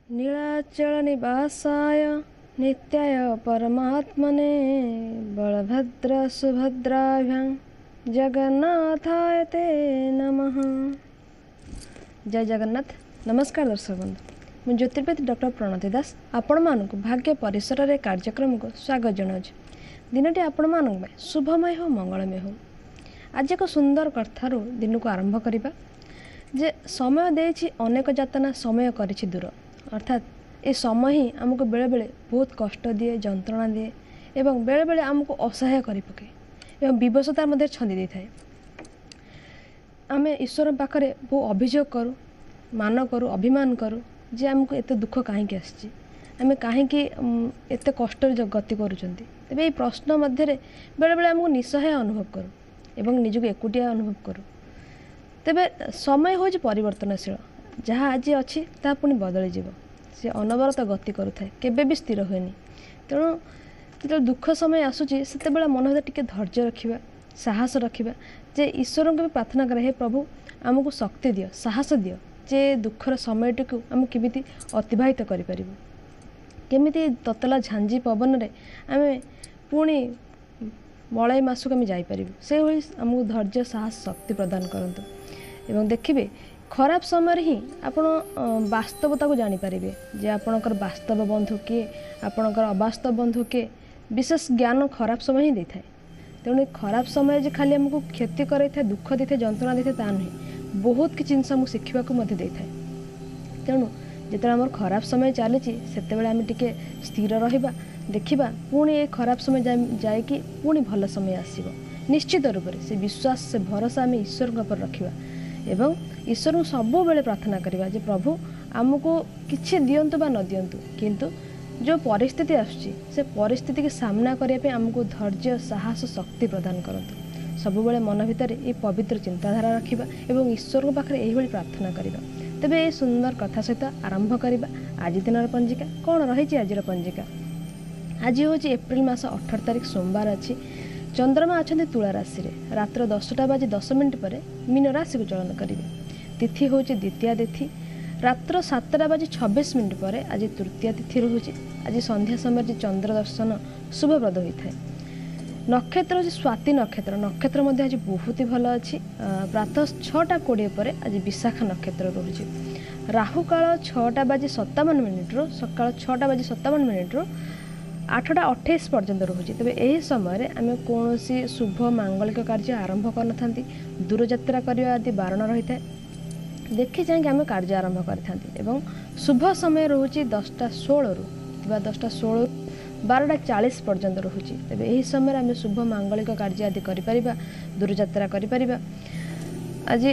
ନୀଳାଚଳ ନିବାସାୟ ନିତ୍ୟାୟ ପରମାତ୍ମନେ ବଳଭଦ୍ର ସୁଭଦ୍ରାଭ୍ୟାଂ ଜଗନ୍ନାଥାୟ ତେ ନମଃ। ଜୟ ଜଗନ୍ନାଥ। ନମସ୍କାର ଦର୍ଶକ ବନ୍ଧୁ, ମୁଁ ଜ୍ୟୋତିର୍ବିଦ ଡକ୍ଟର ପ୍ରଣତି ଦାସ ଆପଣମାନଙ୍କୁ ଭାଗ୍ୟ ପରିସରରେ କାର୍ଯ୍ୟକ୍ରମକୁ ସ୍ୱାଗତ ଜଣାଉଛି। ଦିନଟି ଆପଣମାନଙ୍କ ପାଇଁ ଶୁଭମୟ ହେଉ, ମଙ୍ଗଳମୟ ହେଉ। ଆଜି ଏକ ସୁନ୍ଦର କଥାରୁ ଦିନକୁ ଆରମ୍ଭ କରିବା ଯେ ସମୟ ଦେଇଛି ଅନେକ ଯାତନା, ସମୟ କରିଛି ଦୂର। ଅର୍ଥାତ୍ ଏ ସମୟ ହିଁ ଆମକୁ ବେଳେବେଳେ ବହୁତ କଷ୍ଟ ଦିଏ, ଯନ୍ତ୍ରଣା ଦିଏ ଏବଂ ବେଳେବେଳେ ଆମକୁ ଅସହାୟ କରିପକାଏ ଏବଂ ବିବଶତା ମଧ୍ୟ ଛନ୍ଦି ଦେଇଥାଏ। ଆମେ ଈଶ୍ୱରଙ୍କ ପାଖରେ ବହୁ ଅଭିଯୋଗ କରୁ, ମାନ କରୁ, ଅଭିମାନ କରୁ ଯେ ଆମକୁ ଏତେ ଦୁଃଖ କାହିଁକି ଆସିଛି, ଆମେ କାହିଁକି ଏତେ କଷ୍ଟରେ ଗତି କରୁଛନ୍ତି। ତେବେ ଏହି ପ୍ରଶ୍ନ ମଧ୍ୟରେ ବେଳେବେଳେ ଆମକୁ ନିଃସହାୟ ଅନୁଭବ କରୁ ଏବଂ ନିଜକୁ ଏକୁଟିଆ ଅନୁଭବ କରୁ। ତେବେ ସମୟ ହେଉଛି ପରିବର୍ତ୍ତନଶୀଳ, ଯାହା ଆଜି ଅଛି ତାହା ପୁଣି ବଦଳିଯିବ। ସେ ଅନବରତ ଗତି କରୁଥାଏ, କେବେ ବି ସ୍ଥିର ହୁଏନି। ତେଣୁ ଯେତେବେଳେ ଦୁଃଖ ସମୟ ଆସୁଛି ସେତେବେଳେ ମନ ଭିତରେ ଟିକେ ଧୈର୍ଯ୍ୟ ରଖିବା, ସାହସ ରଖିବା ଯେ ଈଶ୍ୱରଙ୍କୁ ବି ପ୍ରାର୍ଥନା କରେ, ହେ ପ୍ରଭୁ ଆମକୁ ଶକ୍ତି ଦିଅ, ସାହସ ଦିଅ ଯେ ଦୁଃଖର ସମୟଟିକୁ ଆମେ କେମିତି ଅତିବାହିତ କରିପାରିବୁ, କେମିତି ତତଲା ଝାଞ୍ଜି ପବନରେ ଆମେ ପୁଣି ମଳୟ ମାସକୁ ଆମେ ଯାଇପାରିବୁ। ସେଇଭଳି ଆମକୁ ଧୈର୍ଯ୍ୟ, ସାହସ, ଶକ୍ତି ପ୍ରଦାନ କରନ୍ତୁ। ଏବଂ ଦେଖିବେ ଖରାପ ସମୟରେ ହିଁ ଆପଣ ବାସ୍ତବତାକୁ ଜାଣିପାରିବେ ଯେ ଆପଣଙ୍କର ବାସ୍ତବ ବନ୍ଧୁ କିଏ, ଆପଣଙ୍କର ଅବାସ୍ତବ ବନ୍ଧୁ କିଏ। ବିଶେଷ ଜ୍ଞାନ ଖରାପ ସମୟ ହିଁ ଦେଇଥାଏ। ତେଣୁ ଖରାପ ସମୟ ଯେ ଖାଲି ଆମକୁ କ୍ଷତି କରାଇଥାଏ, ଦୁଃଖ ଦେଇଥାଏ, ଯନ୍ତ୍ରଣା ଦେଇଥାଏ ତା ନୁହେଁ, ବହୁତ କିଛି ଜିନିଷ ଆମକୁ ଶିଖିବାକୁ ମଧ୍ୟ ଦେଇଥାଏ। ତେଣୁ ଯେତେବେଳେ ଆମର ଖରାପ ସମୟ ଚାଲିଛି ସେତେବେଳେ ଆମେ ଟିକେ ସ୍ଥିର ରହିବା, ଦେଖିବା ପୁଣି ଏ ଖରାପ ସମୟ ଯାଇକି ପୁଣି ଭଲ ସମୟ ଆସିବ ନିଶ୍ଚିତ ରୂପରେ। ସେ ବିଶ୍ୱାସ, ସେ ଭରସା ଆମେ ଈଶ୍ୱରଙ୍କ ଉପରେ ରଖିବା ଏବଂ ଈଶ୍ୱରଙ୍କୁ ସବୁବେଳେ ପ୍ରାର୍ଥନା କରିବା ଯେ ପ୍ରଭୁ ଆମକୁ କିଛି ଦିଅନ୍ତୁ ବା ନ ଦିଅନ୍ତୁ, କିନ୍ତୁ ଯେଉଁ ପରିସ୍ଥିତି ଆସୁଛି ସେ ପରିସ୍ଥିତିକି ସାମ୍ନା କରିବା ପାଇଁ ଆମକୁ ଧୈର୍ଯ୍ୟ, ସାହସ, ଶକ୍ତି ପ୍ରଦାନ କରନ୍ତୁ। ସବୁବେଳେ ମନ ଭିତରେ ଏହି ପବିତ୍ର ଚିନ୍ତାଧାରା ରଖିବା ଏବଂ ଈଶ୍ୱରଙ୍କ ପାଖରେ ଏହିଭଳି ପ୍ରାର୍ଥନା କରିବା। ତେବେ ଏହି ସୁନ୍ଦର କଥା ସହିତ ଆରମ୍ଭ କରିବା ଆଜି ଦିନର ପଞ୍ଜିକା। କ'ଣ ରହିଛି ଆଜିର ପଞ୍ଜିକା? ଆଜି ହେଉଛି ଏପ୍ରିଲ ମାସ 18 ତାରିଖ, ସୋମବାର ଅଛି। ଚନ୍ଦ୍ରମା ଅଛନ୍ତି ତୁଳା ରାଶିରେ। ରାତ୍ର 10ଟା ବାଜି 10 ମିନିଟ୍ ପରେ ମୀନ ରାଶିକୁ ଚଳନ କରିବେ। ତିଥି ହେଉଛି ଦ୍ୱିତୀୟା ତିଥି। ରାତ୍ର 7ଟା ବାଜି 26 ମିନିଟ୍ ପରେ ଆଜି ତୃତୀୟା ତିଥି ରହୁଛି। ଆଜି ସନ୍ଧ୍ୟା ସମୟରେ ଚନ୍ଦ୍ର ଦର୍ଶନ ଶୁଭପ୍ରଦ ହୋଇଥାଏ। ନକ୍ଷତ୍ର ହେଉଛି ସ୍ୱାତି ନକ୍ଷତ୍ର। ନକ୍ଷତ୍ର ମଧ୍ୟ ଆଜି ବହୁତ ଭଲ ଅଛି। ପ୍ରାତଃ 6ଟା 20 ପରେ ଆଜି ବିଶାଖା ନକ୍ଷତ୍ର ରହୁଛି। ରାହୁକାଳ 6ଟା ବାଜି 57 ମିନିଟ୍ରୁ, ସକାଳ 6ଟା ବାଜି 57 ମିନିଟ୍ରୁ 8ଟା 28 ପର୍ଯ୍ୟନ୍ତ ରହୁଛି। ତେବେ ଏହି ସମୟରେ ଆମେ କୌଣସି ଶୁଭ ମାଙ୍ଗଳିକ କାର୍ଯ୍ୟ ଆରମ୍ଭ କରିନଥାନ୍ତି। ଦୂରଯାତ୍ରା କରିବା ଆଦି ବାରଣ ରହିଥାଏ। ଦେଖି ଚାହିଁକି ଆମେ କାର୍ଯ୍ୟ ଆରମ୍ଭ କରିଥାନ୍ତି। ଏବଂ ଶୁଭ ସମୟ ରହୁଛି 10ଟା 16ରୁ କିମ୍ବା 10ଟା 16ରୁ 12ଟା 40 ପର୍ଯ୍ୟନ୍ତ ରହୁଛି। ତେବେ ଏହି ସମୟରେ ଆମେ ଶୁଭ ମାଙ୍ଗଳିକ କାର୍ଯ୍ୟ ଆଦି କରିପାରିବା, ଦୂରଯାତ୍ରା କରିପାରିବା। ଆଜି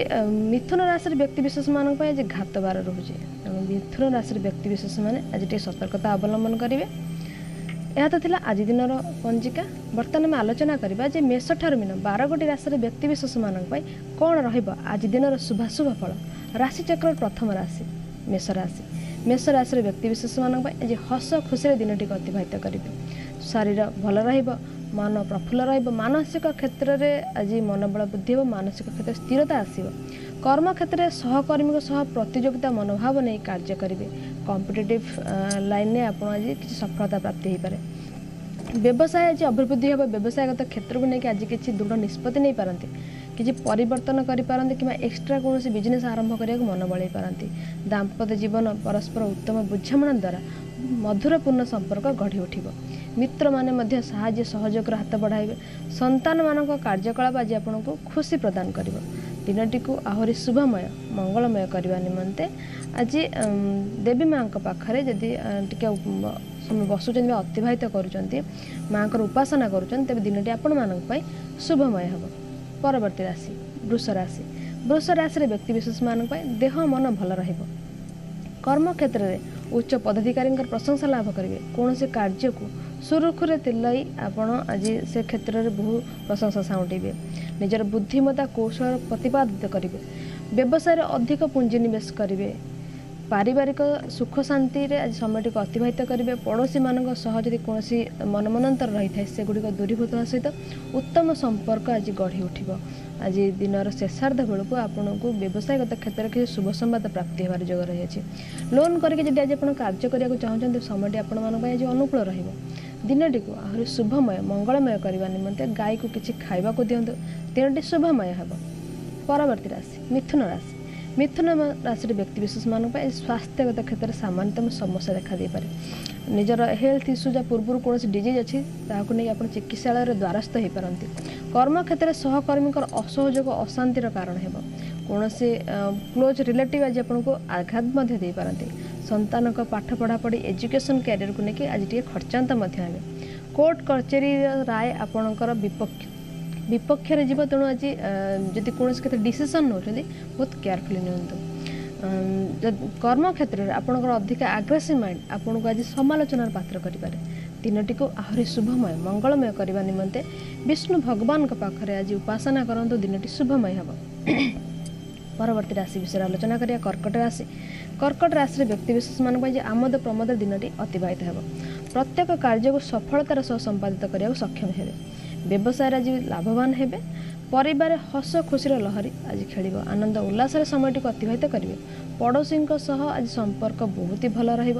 ମିଥୁନ ରାଶିର ବ୍ୟକ୍ତିବିଶେଷମାନଙ୍କ ପାଇଁ ଆଜି ଘାତବାର ରହୁଛି। ତେଣୁ ମିଥୁନ ରାଶିର ବ୍ୟକ୍ତିବିଶେଷମାନେ ଆଜି ଟିକେ ସତର୍କତା ଅବଲମ୍ବନ କରିବେ। ଏହା ତ ଥିଲା ଆଜି ଦିନର ପଞ୍ଜିକା। ବର୍ତ୍ତମାନ ଆମେ ଆଲୋଚନା କରିବା ଯେ ମେଷ ଠାରୁ ମୀନ 12 ଗୋଟି ରାଶିର ବ୍ୟକ୍ତିବିଶେଷମାନଙ୍କ ପାଇଁ କ'ଣ ରହିବ ଆଜି ଦିନର ଶୁଭାଶୁଭ ଫଳ। ରାଶିଚକ୍ରର ପ୍ରଥମ ରାଶି ମେଷ ରାଶି। ମେଷ ରାଶିର ବ୍ୟକ୍ତିବିଶେଷମାନଙ୍କ ପାଇଁ ଆଜି ହସ ଖୁସିରେ ଦିନଟିକୁ ଅତିବାହିତ କରିବେ। ଶରୀର ଭଲ ରହିବ, ମନ ପ୍ରଫୁଲ୍ଲ ରହିବ। ମାନସିକ କ୍ଷେତ୍ରରେ ଆଜି ମନୋବଳ ବୃଦ୍ଧି ହେବ, ମାନସିକ କ୍ଷେତ୍ରରେ ସ୍ଥିରତା ଆସିବ। କର୍ମକ୍ଷେତ୍ରରେ ସହକର୍ମୀଙ୍କ ସହ ପ୍ରତିଯୋଗିତା ମନୋଭାବ ନେଇ କାର୍ଯ୍ୟ କରିବେ। କମ୍ପିଟେଟିଭ୍ ଲାଇନ୍ରେ ଆପଣ ଆଜି କିଛି ସଫଳତା ପ୍ରାପ୍ତି ହୋଇପାରେ। ବ୍ୟବସାୟ ଆଜି ଅଭିବୃଦ୍ଧି ହେବ। ବ୍ୟବସାୟଗତ କ୍ଷେତ୍ରକୁ ନେଇକି ଆଜି କିଛି ଦୃଢ଼ ନିଷ୍ପତ୍ତି ନେଇପାରନ୍ତି, କିଛି ପରିବର୍ତ୍ତନ କରିପାରନ୍ତି କିମ୍ବା ଏକ୍ସଟ୍ରା କୌଣସି ବିଜନେସ୍ ଆରମ୍ଭ କରିବାକୁ ମନ ବଳାଇ ପାରନ୍ତି। ଦାମ୍ପତ୍ୟ ଜୀବନ ପରସ୍ପର ଉତ୍ତମ ବୁଝାମଣା ଦ୍ୱାରା ମଧୁରପୂର୍ଣ୍ଣ ସମ୍ପର୍କ ଗଢ଼ି ଉଠିବ। ମିତ୍ରମାନେ ମଧ୍ୟ ସାହାଯ୍ୟ ସହଯୋଗର ହାତ ବଢ଼ାଇବେ। ସନ୍ତାନମାନଙ୍କ କାର୍ଯ୍ୟକଳାପ ଆଜି ଆପଣଙ୍କୁ ଖୁସି ପ୍ରଦାନ କରିବ। ଦିନଟିକୁ ଆହୁରି ଶୁଭମୟ, ମଙ୍ଗଳମୟ କରିବା ନିମନ୍ତେ ଆଜି ଦେବୀ ମାଆଙ୍କ ପାଖରେ ଯଦି ଟିକେ ସମୟ ବସୁଛନ୍ତି ବା ଅତିବାହିତ କରୁଛନ୍ତି, ମାଆଙ୍କର ଉପାସନା କରୁଛନ୍ତି, ତେବେ ଦିନଟି ଆପଣମାନଙ୍କ ପାଇଁ ଶୁଭମୟ ହେବ। ପରବର୍ତ୍ତୀ ରାଶି ବୃଷ ରାଶି। ବୃଷ ରାଶିର ବ୍ୟକ୍ତିବିଶେଷମାନଙ୍କ ପାଇଁ ଦେହ ମନ ଭଲ ରହିବ। କର୍ମକ୍ଷେତ୍ରରେ ଉଚ୍ଚ ପଦାଧିକାରୀଙ୍କର ପ୍ରଶଂସା ଲାଭ କରିବେ। କୌଣସି କାର୍ଯ୍ୟକୁ ସୁରୁଖୁରୁରେ ତୁଲାଇ ଆପଣ ଆଜି ସେ କ୍ଷେତ୍ରରେ ବହୁ ପ୍ରଶଂସା ସାଉଁଟିବେ। ନିଜର ବୁଦ୍ଧିମତା କୌଶଳ ପ୍ରତିପାଦିତ କରିବେ। ବ୍ୟବସାୟରେ ଅଧିକ ପୁଞ୍ଜିନିବେଶ କରିବେ। ପାରିବାରିକ ସୁଖ ଶାନ୍ତିରେ ଆଜି ସମୟଟିକୁ ଅତିବାହିତ କରିବେ। ପଡ଼ୋଶୀମାନଙ୍କ ସହ ଯଦି କୌଣସି ମନମନାନ୍ତର ରହିଥାଏ, ସେଗୁଡ଼ିକ ଦୂରୀଭୂତ ହେବା ସହିତ ଉତ୍ତମ ସମ୍ପର୍କ ଆଜି ଗଢ଼ି ଉଠିବ। ଆଜି ଦିନର ଶେଷାର୍ଦ୍ଧ ବେଳକୁ ଆପଣଙ୍କୁ ବ୍ୟବସାୟଗତ କ୍ଷେତ୍ରରେ କିଛି ଶୁଭ ସମ୍ବାଦ ପ୍ରାପ୍ତି ହେବାର ଯୋଗ ରହିଅଛି। ଲୋନ୍ କରିକି ଯଦି ଆଜି ଆପଣ କାର୍ଯ୍ୟ କରିବାକୁ ଚାହୁଁଛନ୍ତି, ସମୟଟି ଆପଣମାନଙ୍କ ପାଇଁ ଆଜି ଅନୁକୂଳ ରହିବ। ଦିନଟିକୁ ଆହୁରି ଶୁଭମୟ ମଙ୍ଗଳମୟ କରିବା ନିମନ୍ତେ ଗାଈକୁ କିଛି ଖାଇବାକୁ ଦିଅନ୍ତୁ, ଦିନଟି ଶୁଭମୟ ହେବ। ପରବର୍ତ୍ତୀ ରାଶି ମିଥୁନ ରାଶି। ମିଥୁନ ରାଶିର ବ୍ୟକ୍ତିବିଶେଷମାନଙ୍କ ପାଇଁ ସ୍ୱାସ୍ଥ୍ୟଗତ କ୍ଷେତ୍ରରେ ସାମାନ୍ୟତମ ସମସ୍ୟା ଦେଖାଦେଇପାରେ। ନିଜର ହେଲ୍ଥ ଇସ୍ୟୁ ଯାହା ପୂର୍ବରୁ କୌଣସି ଡିଜିଜ୍ ଅଛି, ତାହାକୁ ନେଇ ଆପଣ ଚିକିତ୍ସାଳୟରେ ଦ୍ୱାରସ୍ଥ ହୋଇପାରନ୍ତି। କର୍ମକ୍ଷେତ୍ରରେ ସହକର୍ମୀଙ୍କର ଅସହଯୋଗ ଅଶାନ୍ତିର କାରଣ ହେବ। କୌଣସି କ୍ଲୋଜ୍ ରିଲେଟିଭ୍ ଆଜି ଆପଣଙ୍କୁ ଆଘାତ ମଧ୍ୟ ଦେଇପାରନ୍ତି। ସନ୍ତାନଙ୍କ ପାଠ ପଢ଼ାପଢ଼ି, ଏଜୁକେସନ୍ କ୍ୟାରିୟରକୁ ନେଇକି ଆଜି ଟିକେ ଖର୍ଚ୍ଚାନ୍ତ ମଧ୍ୟ ହେବେ। କୋର୍ଟ କଚେରୀର ରାୟ ଆପଣଙ୍କର ବିପକ୍ଷରେ ଯିବ, ତେଣୁ ଆଜି ଯଦି କୌଣସି କ୍ଷେତ୍ରରେ ଡିସିସନ୍ ନେଉଛନ୍ତି, ବହୁତ କେୟାରଫୁଲି ନିଅନ୍ତୁ। କର୍ମକ୍ଷେତ୍ରରେ ଆପଣଙ୍କର ଅଧିକା ଆଗ୍ରେସିଭ୍ ମାଇଣ୍ଡ ଆପଣଙ୍କୁ ଆଜି ସମାଲୋଚନାର ପାତ୍ର କରିପାରେ। ଦିନଟିକୁ ଆହୁରି ଶୁଭମୟ ମଙ୍ଗଳମୟ କରିବା ନିମନ୍ତେ ବିଷ୍ଣୁ ଭଗବାନଙ୍କ ପାଖରେ ଆଜି ଉପାସନା କରନ୍ତୁ, ଦିନଟି ଶୁଭମୟ ହେବ। ପରବର୍ତ୍ତୀ ରାଶି ବିଷୟରେ ଆଲୋଚନା କରିବା, କର୍କଟ ରାଶି। କର୍କଟ ରାଶିର ବ୍ୟକ୍ତିବିଶେଷମାନଙ୍କ ପାଇଁ ଯେ ଆମୋଦ ପ୍ରମୋଦ ଦିନଟି ଅତିବାହିତ ହେବ। ପ୍ରତ୍ୟେକ କାର୍ଯ୍ୟକୁ ସଫଳତାର ସହ ସମ୍ପାଦିତ କରିବାକୁ ସକ୍ଷମ ହେବେ। ବ୍ୟବସାୟରେ ଆଜି ଲାଭବାନ ହେବେ। ପରିବାରରେ ହସ ଖୁସିର ଲହରୀ ଆଜି ଖେଳିବ। ଆନନ୍ଦ ଉଲ୍ଲାସରେ ସମୟଟିକୁ ଅତିବାହିତ କରିବେ। ପଡ଼ୋଶୀଙ୍କ ସହ ଆଜି ସମ୍ପର୍କ ବହୁତ ହି ଭଲ ରହିବ।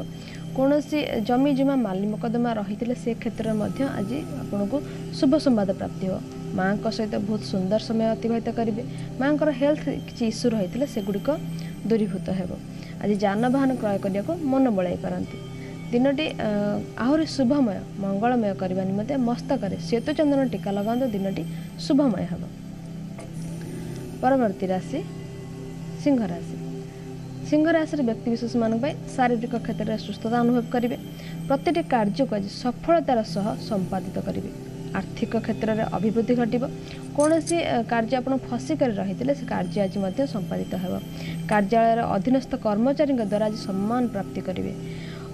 କୌଣସି ଜମି ଜମା ମାଲି ମକଦ୍ଦମା ରହିଥିଲେ ସେ କ୍ଷେତ୍ରରେ ମଧ୍ୟ ଆଜି ଆପଣଙ୍କୁ ଶୁଭ ସମ୍ବାଦ ପ୍ରାପ୍ତି ହେବ। ମାଆଙ୍କ ସହିତ ବହୁତ ସୁନ୍ଦର ସମୟ ଅତିବାହିତ କରିବେ। ମାଆଙ୍କର ହେଲ୍ଥ କିଛି ଇସ୍ୟୁ ରହିଥିଲେ ସେଗୁଡ଼ିକ ଦୂରୀଭୂତ ହେବ। ଆଜି ଯାନବାହନ କ୍ରୟ କରିବାକୁ ମନ ବଳାଇ ପାରନ୍ତି। ଦିନଟି ଆହୁରି ଶୁଭମୟ ମଙ୍ଗଳମୟ କରିବା ନିମନ୍ତେ ମସ୍ତକରେ ସେତୁଚନ୍ଦନ ଟୀକା ଲଗାନ୍ତୁ, ଦିନଟି ଶୁଭମୟ ହେବ। ପରବର୍ତ୍ତୀ ରାଶି ସିଂହ ରାଶି। ସିଂହ ରାଶିର ବ୍ୟକ୍ତିବିଶେଷମାନଙ୍କ ପାଇଁ ଶାରୀରିକ କ୍ଷେତ୍ରରେ ସୁସ୍ଥତା ଅନୁଭବ କରିବେ। ପ୍ରତିଟି କାର୍ଯ୍ୟକୁ ଆଜି ସଫଳତାର ସହ ସମ୍ପାଦିତ କରିବେ। ଆର୍ଥିକ କ୍ଷେତ୍ରରେ ଅଭିବୃଦ୍ଧି ଘଟିବ। କୌଣସି କାର୍ଯ୍ୟ ଆପଣ ଫସି କରି ରହିଥିଲେ ସେ କାର୍ଯ୍ୟ ଆଜି ମଧ୍ୟ ସମ୍ପାଦିତ ହେବ। କାର୍ଯ୍ୟାଳୟର ଅଧୀନସ୍ଥ କର୍ମଚାରୀଙ୍କ ଦ୍ୱାରା ଆଜି ସମ୍ମାନ ପ୍ରାପ୍ତି କରିବେ।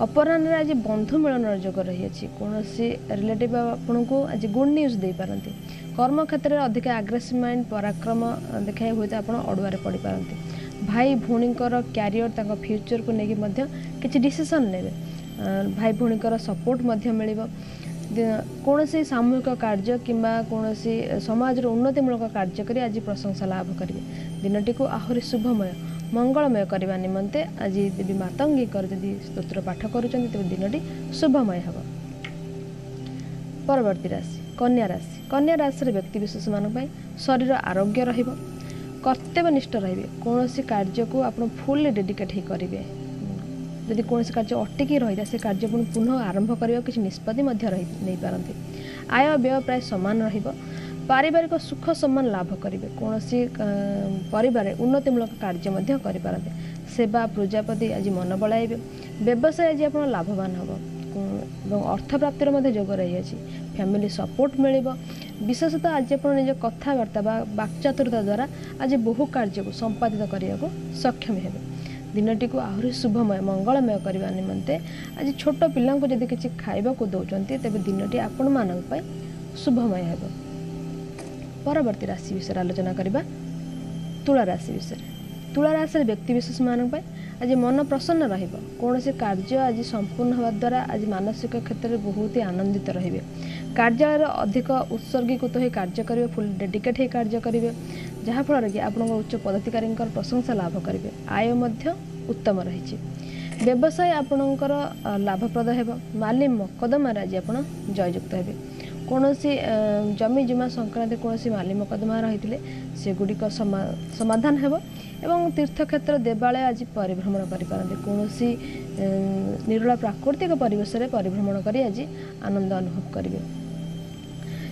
ଅପରାହ୍ନରେ ଆଜି ବନ୍ଧୁ ମିଳନର ଯୋଗ ରହିଅଛି। କୌଣସି ରିଲେଟିଭ୍ ଆପଣଙ୍କୁ ଆଜି ଗୁଡ୍ ନ୍ୟୁଜ୍ ଦେଇପାରନ୍ତି। କର୍ମକ୍ଷେତ୍ରରେ ଅଧିକ ଆଗ୍ରେସିଭ୍ ମାଇଣ୍ଡ, ପରାକ୍ରମ ଦେଖାଇ ହୁଏତ ଆପଣ ଅଡ଼ୁଆରେ ପଡ଼ିପାରନ୍ତି। ଭାଇ ଭଉଣୀଙ୍କର କ୍ୟାରିୟର, ତାଙ୍କ ଫ୍ୟୁଚରକୁ ନେଇକି ମଧ୍ୟ କିଛି ଡିସିସନ୍ ନେବେ। ଭାଇ ଭଉଣୀଙ୍କର ସପୋର୍ଟ ମଧ୍ୟ ମିଳିବ। କୌଣସି ସାମୂହିକ କାର୍ଯ୍ୟ କିମ୍ବା କୌଣସି ସମାଜର ଉନ୍ନତିମୂଳକ କାର୍ଯ୍ୟ କରି ଆଜି ପ୍ରଶଂସା ଲାଭ କରିବେ। ଦିନଟିକୁ ଆହୁରି ଶୁଭମୟ ମଙ୍ଗଳମୟ କରିବା ନିମନ୍ତେ ଆଜି ଦେବୀ ମାତଙ୍ଗୀଙ୍କର ଯଦି ସ୍ତୋତ୍ର ପାଠ କରୁଛନ୍ତି, ତେବେ ଦିନଟି ଶୁଭମୟ ହେବ। ପରବର୍ତ୍ତୀ ରାଶି କନ୍ୟା ରାଶି। କନ୍ୟା ରାଶିର ବ୍ୟକ୍ତିବିଶେଷମାନଙ୍କ ପାଇଁ ଶରୀର ଆରୋଗ୍ୟ ରହିବ। କର୍ତ୍ତବ୍ୟନିଷ୍ଠ ରହିବେ। କୌଣସି କାର୍ଯ୍ୟକୁ ଆପଣ ଫୁଲ୍ଲି ଡେଡିକେଟ୍ ହେଇ କରିବେ। ଯଦି କୌଣସି କାର୍ଯ୍ୟ ଅଟକି ରହିଥାଏ, ସେ କାର୍ଯ୍ୟ ପୁଣି ପୁନଃ ଆରମ୍ଭ କରିବାକୁ କିଛି ନିଷ୍ପତ୍ତି ମଧ୍ୟ ରହି ନେଇପାରନ୍ତି। ଆୟ ବ୍ୟୟ ପ୍ରାୟ ସମାନ ରହିବ। ପାରିବାରିକ ସୁଖ ସମ୍ମାନ ଲାଭ କରିବେ। କୌଣସି ପରିବାରରେ ଉନ୍ନତିମୂଳକ କାର୍ଯ୍ୟ ମଧ୍ୟ କରିପାରନ୍ତି। ସେବା ପ୍ରଜାପତି ଆଜି ମନ ବଳାଇବେ। ବ୍ୟବସାୟ ଆଜି ଆପଣ ଲାଭବାନ ହେବ ଏବଂ ଅର୍ଥ ପ୍ରାପ୍ତିର ମଧ୍ୟ ଯୋଗ ରହିଅଛି। ଫ୍ୟାମିଲି ସପୋର୍ଟ ମିଳିବ। ବିଶେଷତଃ ଆଜି ଆପଣ ନିଜ କଥାବାର୍ତ୍ତା ବା ବାକ୍ଚାତୁରତା ଦ୍ୱାରା ଆଜି ବହୁ କାର୍ଯ୍ୟକୁ ସମ୍ପାଦିତ କରିବାକୁ ସକ୍ଷମ ହେବେ। ଦିନଟିକୁ ଆହୁରି ଶୁଭମୟ ମଙ୍ଗଳମୟ କରିବା ନିମନ୍ତେ ଆଜି ଛୋଟ ପିଲାଙ୍କୁ ଯଦି କିଛି ଖାଇବାକୁ ଦେଉଛନ୍ତି, ତେବେ ଦିନଟି ଆପଣମାନଙ୍କ ପାଇଁ ଶୁଭମୟ ହେବ। ପରବର୍ତ୍ତୀ ରାଶି ବିଷୟରେ ଆଲୋଚନା କରିବା, ତୁଳା ରାଶି ବିଷୟରେ। ତୁଳା ରାଶିର ବ୍ୟକ୍ତିବିଶେଷମାନଙ୍କ ପାଇଁ ଆଜି ମନ ପ୍ରସନ୍ନ ରହିବ। କୌଣସି କାର୍ଯ୍ୟ ଆଜି ସମ୍ପୂର୍ଣ୍ଣ ହେବା ଦ୍ୱାରା ଆଜି ମାନସିକ କ୍ଷେତ୍ରରେ ବହୁତ ହି ଆନନ୍ଦିତ ରହିବେ। କାର୍ଯ୍ୟାଳୟରେ ଅଧିକ ଉତ୍ସର୍ଗୀକୃତ ହୋଇ କାର୍ଯ୍ୟ କରିବେ, ଫୁଲ୍ ଡେଡିକେଟ୍ ହୋଇ କାର୍ଯ୍ୟ କରିବେ, ଯାହାଫଳରେ କି ଆପଣଙ୍କ ଉଚ୍ଚ ପଦାଧିକାରୀଙ୍କର ପ୍ରଶଂସା ଲାଭ କରିବେ। ଆୟ ମଧ୍ୟ ଉତ୍ତମ ରହିଛି। ବ୍ୟବସାୟ ଆପଣଙ୍କର ଲାଭପ୍ରଦ ହେବ। ମାଲି ମକଦ୍ଦମାରେ ଆଜି ଆପଣ ଜୟଯୁକ୍ତ ହେବେ। କୌଣସି ଜମି ଜମା ସଂକ୍ରାନ୍ତରେ କୌଣସି ମାଲି ମକଦ୍ଦମା ରହିଥିଲେ ସେଗୁଡ଼ିକ ସମାଧାନ ହେବ ଏବଂ ତୀର୍ଥକ୍ଷେତ୍ର, ଦେବାଳୟ ଆଜି ପରିଭ୍ରମଣ କରିପାରନ୍ତି। କୌଣସି ନିରୋଳା ପ୍ରାକୃତିକ ପରିବେଶରେ ପରିଭ୍ରମଣ କରି ଆଜି ଆନନ୍ଦ ଅନୁଭବ କରିବେ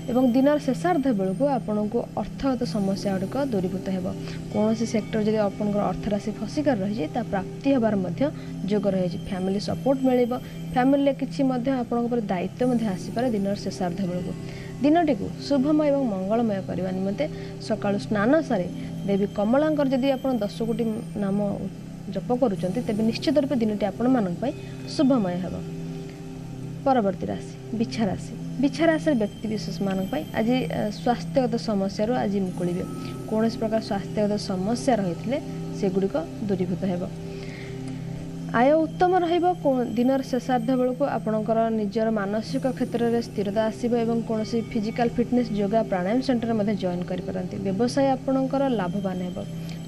ଏବଂ ଦିନର ଶେଷାର୍ଦ୍ଧ ବେଳକୁ ଆପଣଙ୍କୁ ଅର୍ଥଗତ ସମସ୍ୟା ଗୁଡ଼ିକ ଦୂରୀଭୂତ ହେବ। କୌଣସି ସେକ୍ଟର ଯଦି ଆପଣଙ୍କର ଅର୍ଥରାଶି ଫସିକରି ରହିଛି, ତା ପ୍ରାପ୍ତି ହେବାର ମଧ୍ୟ ଯୋଗ ରହିଛି। ଫ୍ୟାମିଲି ସପୋର୍ଟ ମିଳିବ। ଫ୍ୟାମିଲିରେ କିଛି ମଧ୍ୟ ଆପଣଙ୍କ ଉପରେ ଦାୟିତ୍ୱ ମଧ୍ୟ ଆସିପାରେ ଦିନର ଶେଷାର୍ଦ୍ଧ ବେଳକୁ। ଦିନଟିକୁ ଶୁଭମୟ ଏବଂ ମଙ୍ଗଳମୟ କରିବା ନିମନ୍ତେ ସକାଳୁ ସ୍ନାନ ସାରି ଦେବୀ କମଳାଙ୍କର ଯଦି ଆପଣ 10 କୋଟି ନାମ ଜପ କରୁଛନ୍ତି, ତେବେ ନିଶ୍ଚିତ ରୂପେ ଦିନଟି ଆପଣମାନଙ୍କ ପାଇଁ ଶୁଭମୟ ହେବ। ପରବର୍ତ୍ତୀ ରାଶି ବିଛା ରାଶି। ବିଛା ରାଶିର ବ୍ୟକ୍ତିବିଶେଷମାନଙ୍କ ପାଇଁ ଆଜି ସ୍ୱାସ୍ଥ୍ୟଗତ ସମସ୍ୟାରୁ ଆଜି ମୁକୁଳିବେ। କୌଣସି ପ୍ରକାର ସ୍ୱାସ୍ଥ୍ୟଗତ ସମସ୍ୟା ରହିଥିଲେ ସେଗୁଡ଼ିକ ଦୂରୀଭୂତ ହେବ। ଆୟ ଉତ୍ତମ ରହିବ। ଦିନର ଶେଷାର୍ଦ୍ଧ ବେଳକୁ ଆପଣଙ୍କର ନିଜର ମାନସିକ କ୍ଷେତ୍ରରେ ସ୍ଥିରତା ଆସିବ ଏବଂ କୌଣସି ଫିଜିକାଲ ଫିଟନେସ୍, ଯୋଗା, ପ୍ରାଣାୟାମ ସେଣ୍ଟରରେ ମଧ୍ୟ ଜଏନ୍ କରିପାରନ୍ତି। ବ୍ୟବସାୟ ଆପଣଙ୍କର ଲାଭବାନ ହେବ।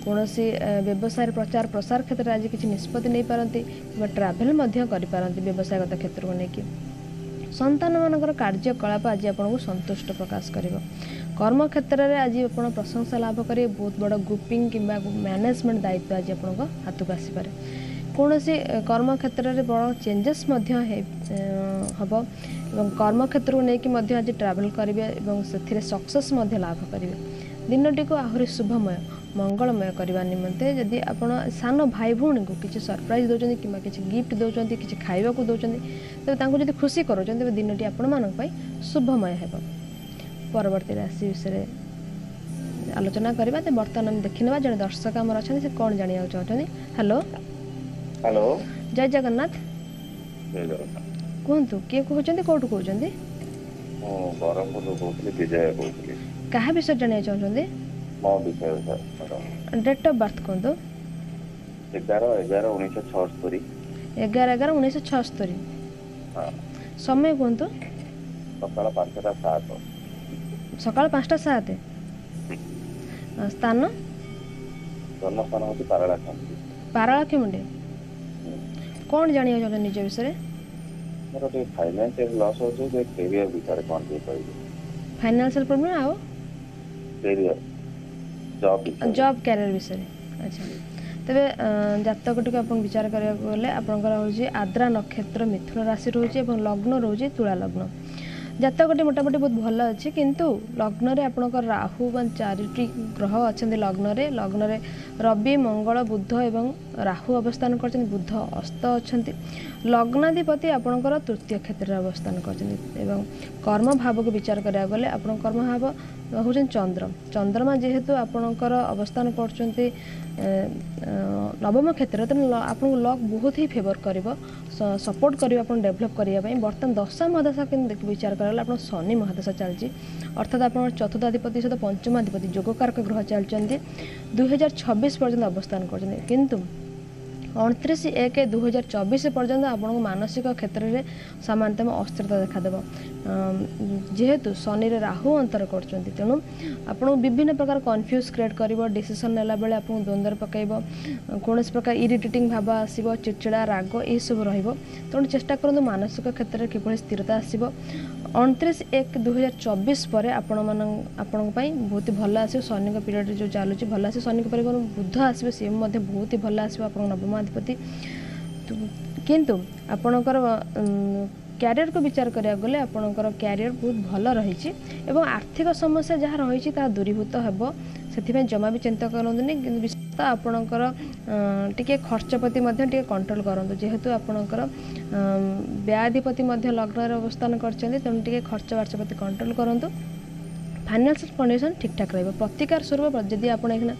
କୌଣସି ବ୍ୟବସାୟର ପ୍ରଚାର ପ୍ରସାର କ୍ଷେତ୍ରରେ ଆଜି କିଛି ନିଷ୍ପତ୍ତି ନେଇପାରନ୍ତି କିମ୍ବା ଟ୍ରାଭେଲ୍ ମଧ୍ୟ କରିପାରନ୍ତି ବ୍ୟବସାୟଗତ କ୍ଷେତ୍ରକୁ ନେଇକି। ସନ୍ତାନମାନଙ୍କର କାର୍ଯ୍ୟକଳାପ ଆଜି ଆପଣଙ୍କୁ ସନ୍ତୁଷ୍ଟ ପ୍ରକାଶ କରିବ। କର୍ମକ୍ଷେତ୍ରରେ ଆଜି ଆପଣ ପ୍ରଶଂସା ଲାଭ କରିବେ। ବହୁତ ବଡ଼ ଗ୍ରୁପିଂ କିମ୍ବା ମ୍ୟାନେଜମେଣ୍ଟ ଦାୟିତ୍ୱ ଆଜି ଆପଣଙ୍କ ହାତକୁ ଆସିପାରେ। କୌଣସି କର୍ମକ୍ଷେତ୍ରରେ ବଡ଼ ଚେଞ୍ଜେସ୍ ମଧ୍ୟ ହେବ ଏବଂ କର୍ମକ୍ଷେତ୍ରକୁ ନେଇକି ମଧ୍ୟ ଆଜି ଟ୍ରାଭେଲ୍ କରିବେ ଏବଂ ସେଥିରେ ସକ୍ସେସ୍ ମଧ୍ୟ ଲାଭ କରିବେ। ଦିନଟିକୁ ଆହୁରି ଶୁଭମୟ, ମଙ୍ଗଳମୟ କରିବା ନିମନ୍ତେ ଯଦି ଆପଣ ସାନ ଭାଇ ଭଉଣୀଙ୍କୁ କିଛି ସରପ୍ରାଇଜ୍ ଦେଉଛନ୍ତି କିମ୍ବା କିଛି ଗିଫ୍ଟ ଦେଉଛନ୍ତି, କିଛି ଖାଇବାକୁ ଦେଉଛନ୍ତି, ତେବେ ତାଙ୍କୁ ଯଦି ଖୁସି କରାଉଛନ୍ତି, ତେବେ ଦିନଟି ଆପଣମାନଙ୍କ ପାଇଁ ଶୁଭମୟ ହେବ। ପରବର୍ତ୍ତୀ ରାଶି ବିଷୟରେ ଆଲୋଚନା କରିବା। ତ ବର୍ତ୍ତମାନ ଆମେ ଦେଖିନେବା ଜଣେ ଦର୍ଶକ ଆମର ଅଛନ୍ତି, ସେ କ'ଣ ଜାଣିବାକୁ ଚାହୁଁଛନ୍ତି। ହ୍ୟାଲୋ। ହ୍ୟାଲୋ। ଜୟ ଜଗନ୍ନାଥ। ଜୟ ଜଗନ୍ନାଥ। କୁହନ୍ତୁ, କିଏ କହୁଛନ୍ତି, କୋଉଠୁ କହୁଛନ୍ତି? ମୁଁ ବ୍ରହ୍ମପୁରରୁ କହୁଥିଲି, ବିଜୟ କହୁଥିଲି। କାହା ବିଷୟରେ ଜାଣିବାକୁ ଚାହୁଁଛନ୍ତି? ମୋ ବିଷୟରେ sir, madam. Date of birth କୁହନ୍ତୁ। 11/11/1976। 11/11/1976। ହଁ। ସମୟ କୁହନ୍ତୁ। ସକାଳ 5ଟା 7। ସକାଳ 5ଟା 7। ସ୍ଥାନ? ଜନ୍ମସ୍ଥାନ ହେଉଛି ପାରଳାଖେମୁଣ୍ଡି। ପାରଳାଖେମୁଣ୍ଡି। କ'ଣ ଜାଣିବାକୁ ଚାହୁଁଛନ୍ତି ନିଜ ବିଷୟରେ? ମୋର ଟିକେ ଫାଇନାନ୍ସିଆଲ ଲସ୍ ହେଉଛି ଯେ, କ୍ୟାରିୟର ବିଷୟରେ କ'ଣ ଟିକେ କହିବେ। ଫାଇନାନ୍ସିଆଲ ପ୍ରୋବ୍ଲେମ୍ ଆଉ କ୍ୟାରିୟର, ଜବ୍ ବିଷୟରେ। ଜବ୍ କ୍ୟାରିୟର ବିଷୟରେ। ଆଚ୍ଛା, ତେବେ ଜାତକଟିକୁ ଆପଣ ବିଚାର କରିବାକୁ ଗଲେ ଆପଣଙ୍କର ହେଉଛି ଆଦ୍ରା ନକ୍ଷତ୍ର, ମିଥୁନ ରାଶି ରହୁଛି ଏବଂ ଲଗ୍ନ ରହୁଛି ତୁଳା ଲଗ୍ନ। ଜାତକଟି ମୋଟାମୋଟି ବହୁତ ଭଲ ଅଛି, କିନ୍ତୁ ଲଗ୍ନରେ ଆପଣଙ୍କର ରାହୁ ବା ଚାରିଟି ଗ୍ରହ ଅଛନ୍ତି ଲଗ୍ନରେ। ଲଗ୍ନରେ ରବି, ମଙ୍ଗଳ, ବୁଧ ଏବଂ ରାହୁ ଅବସ୍ଥାନ କରିଛନ୍ତି। ବୁଧ ଅସ୍ତ ଅଛନ୍ତି। ଲଗ୍ନାଧିପତି ଆପଣଙ୍କର ତୃତୀୟ କ୍ଷେତ୍ରରେ ଅବସ୍ଥାନ କରିଛନ୍ତି ଏବଂ କର୍ମ ଭାବକୁ ବିଚାର କରିବାକୁ ଗଲେ ଆପଣଙ୍କ କର୍ମଭାବ ହେଉଛନ୍ତି ଚନ୍ଦ୍ର। ଚନ୍ଦ୍ରମା ଯେହେତୁ ଆପଣଙ୍କର ଅବସ୍ଥାନ କରୁଛନ୍ତି ନବମ କ୍ଷେତ୍ରରେ, ତେଣୁ ଆପଣଙ୍କୁ ଲକ୍ ବହୁତ ହିଁ ଫେଭର କରିବ, ସପୋର୍ଟ କରିବ ଆପଣ ଡେଭଲପ୍ କରିବା ପାଇଁ। ବର୍ତ୍ତମାନ ଦଶା ମହାଦଶା କିନ୍ତୁ ବିଚାର କରାଗଲେ ଆପଣ ଶନି ମହାଦଶା ଚାଲିଛି, ଅର୍ଥାତ୍ ଆପଣ ଚତୁର୍ଥାଧିପତି ସହିତ ପଞ୍ଚମାଧିପତି ଯୋଗକାରକ ଗ୍ରହ ଚାଲିଛନ୍ତି, 2026 ପର୍ଯ୍ୟନ୍ତ ଅବସ୍ଥାନ କରୁଛନ୍ତି। କିନ୍ତୁ 29/1/2024 ପର୍ଯ୍ୟନ୍ତ ଆପଣଙ୍କୁ ମାନସିକ କ୍ଷେତ୍ରରେ ସାମାନ୍ୟତମ ଅସ୍ଥିରତା ଦେଖାଦେବ। ଯେହେତୁ ଶନିରେ ରାହୁ ଅନ୍ତର କରୁଛନ୍ତି, ତେଣୁ ଆପଣଙ୍କୁ ବିଭିନ୍ନ ପ୍ରକାର କନଫ୍ୟୁଜ୍ କ୍ରିଏଟ୍ କରିବ। ଡିସିସନ୍ ନେଲା ବେଳେ ଆପଣଙ୍କୁ ଦ୍ୱନ୍ଦ୍ୱରେ ପକାଇବ। କୌଣସି ପ୍ରକାର ଇରିଟେଟିଂ ଭାବ ଆସିବ, ଚିଡ଼ଚିଡ଼ା, ରାଗ ଏସବୁ ରହିବ। ତେଣୁ ଚେଷ୍ଟା କରନ୍ତୁ ମାନସିକ କ୍ଷେତ୍ରରେ କିଭଳି ସ୍ଥିରତା ଆସିବ। 29/1/2024 ପରେ ଆପଣଙ୍କ ପାଇଁ ବହୁତ ଭଲ ଆସିବ। ଶନିଙ୍କ ପିରିୟଡ଼ରେ ଯେଉଁ ଚାଲୁଛି ଭଲ ଆସିବ। ଶନିଙ୍କ ପରେ ବୁଧ ଆସିବ, ସିଏ ମଧ୍ୟ ବହୁତ ଭଲ ଆସିବ ଆପଣଙ୍କ ନବମାଧିପତି। କିନ୍ତୁ ଆପଣଙ୍କର କ୍ୟାରିୟରକୁ ବିଚାର କରିବାକୁ ଗଲେ ଆପଣଙ୍କର କ୍ୟାରିୟର ବହୁତ ଭଲ ରହିଛି ଏବଂ ଆର୍ଥିକ ସମସ୍ୟା ଯାହା ରହିଛି ତାହା ଦୂରୀଭୂତ ହେବ। ସେଥିପାଇଁ ଜମା ବି ଚିନ୍ତା କରନ୍ତୁନି। କିନ୍ତୁ ବିଶେଷତଃ ଆପଣଙ୍କର ଟିକେ ଖର୍ଚ୍ଚ ପ୍ରତି ମଧ୍ୟ ଟିକେ କଣ୍ଟ୍ରୋଲ କରନ୍ତୁ। ଯେହେତୁ ଆପଣଙ୍କର ବ୍ୟୟାଧିପତି ମଧ୍ୟ ଲଗ୍ନରେ ଅବସ୍ଥାନ କରିଛନ୍ତି, ତେଣୁ ଟିକେ ଖର୍ଚ୍ଚ ବାର୍ଚ୍ଚ ପ୍ରତି କଣ୍ଟ୍ରୋଲ କରନ୍ତୁ। ଫାଇନାନ୍ସିଆଲ କଣ୍ଡିସନ୍ ଠିକ୍ଠାକ୍ ରହିବ। ପ୍ରତିକାର ସ୍ୱରୂପ ଯଦି ଆପଣ ଏଇଖିନା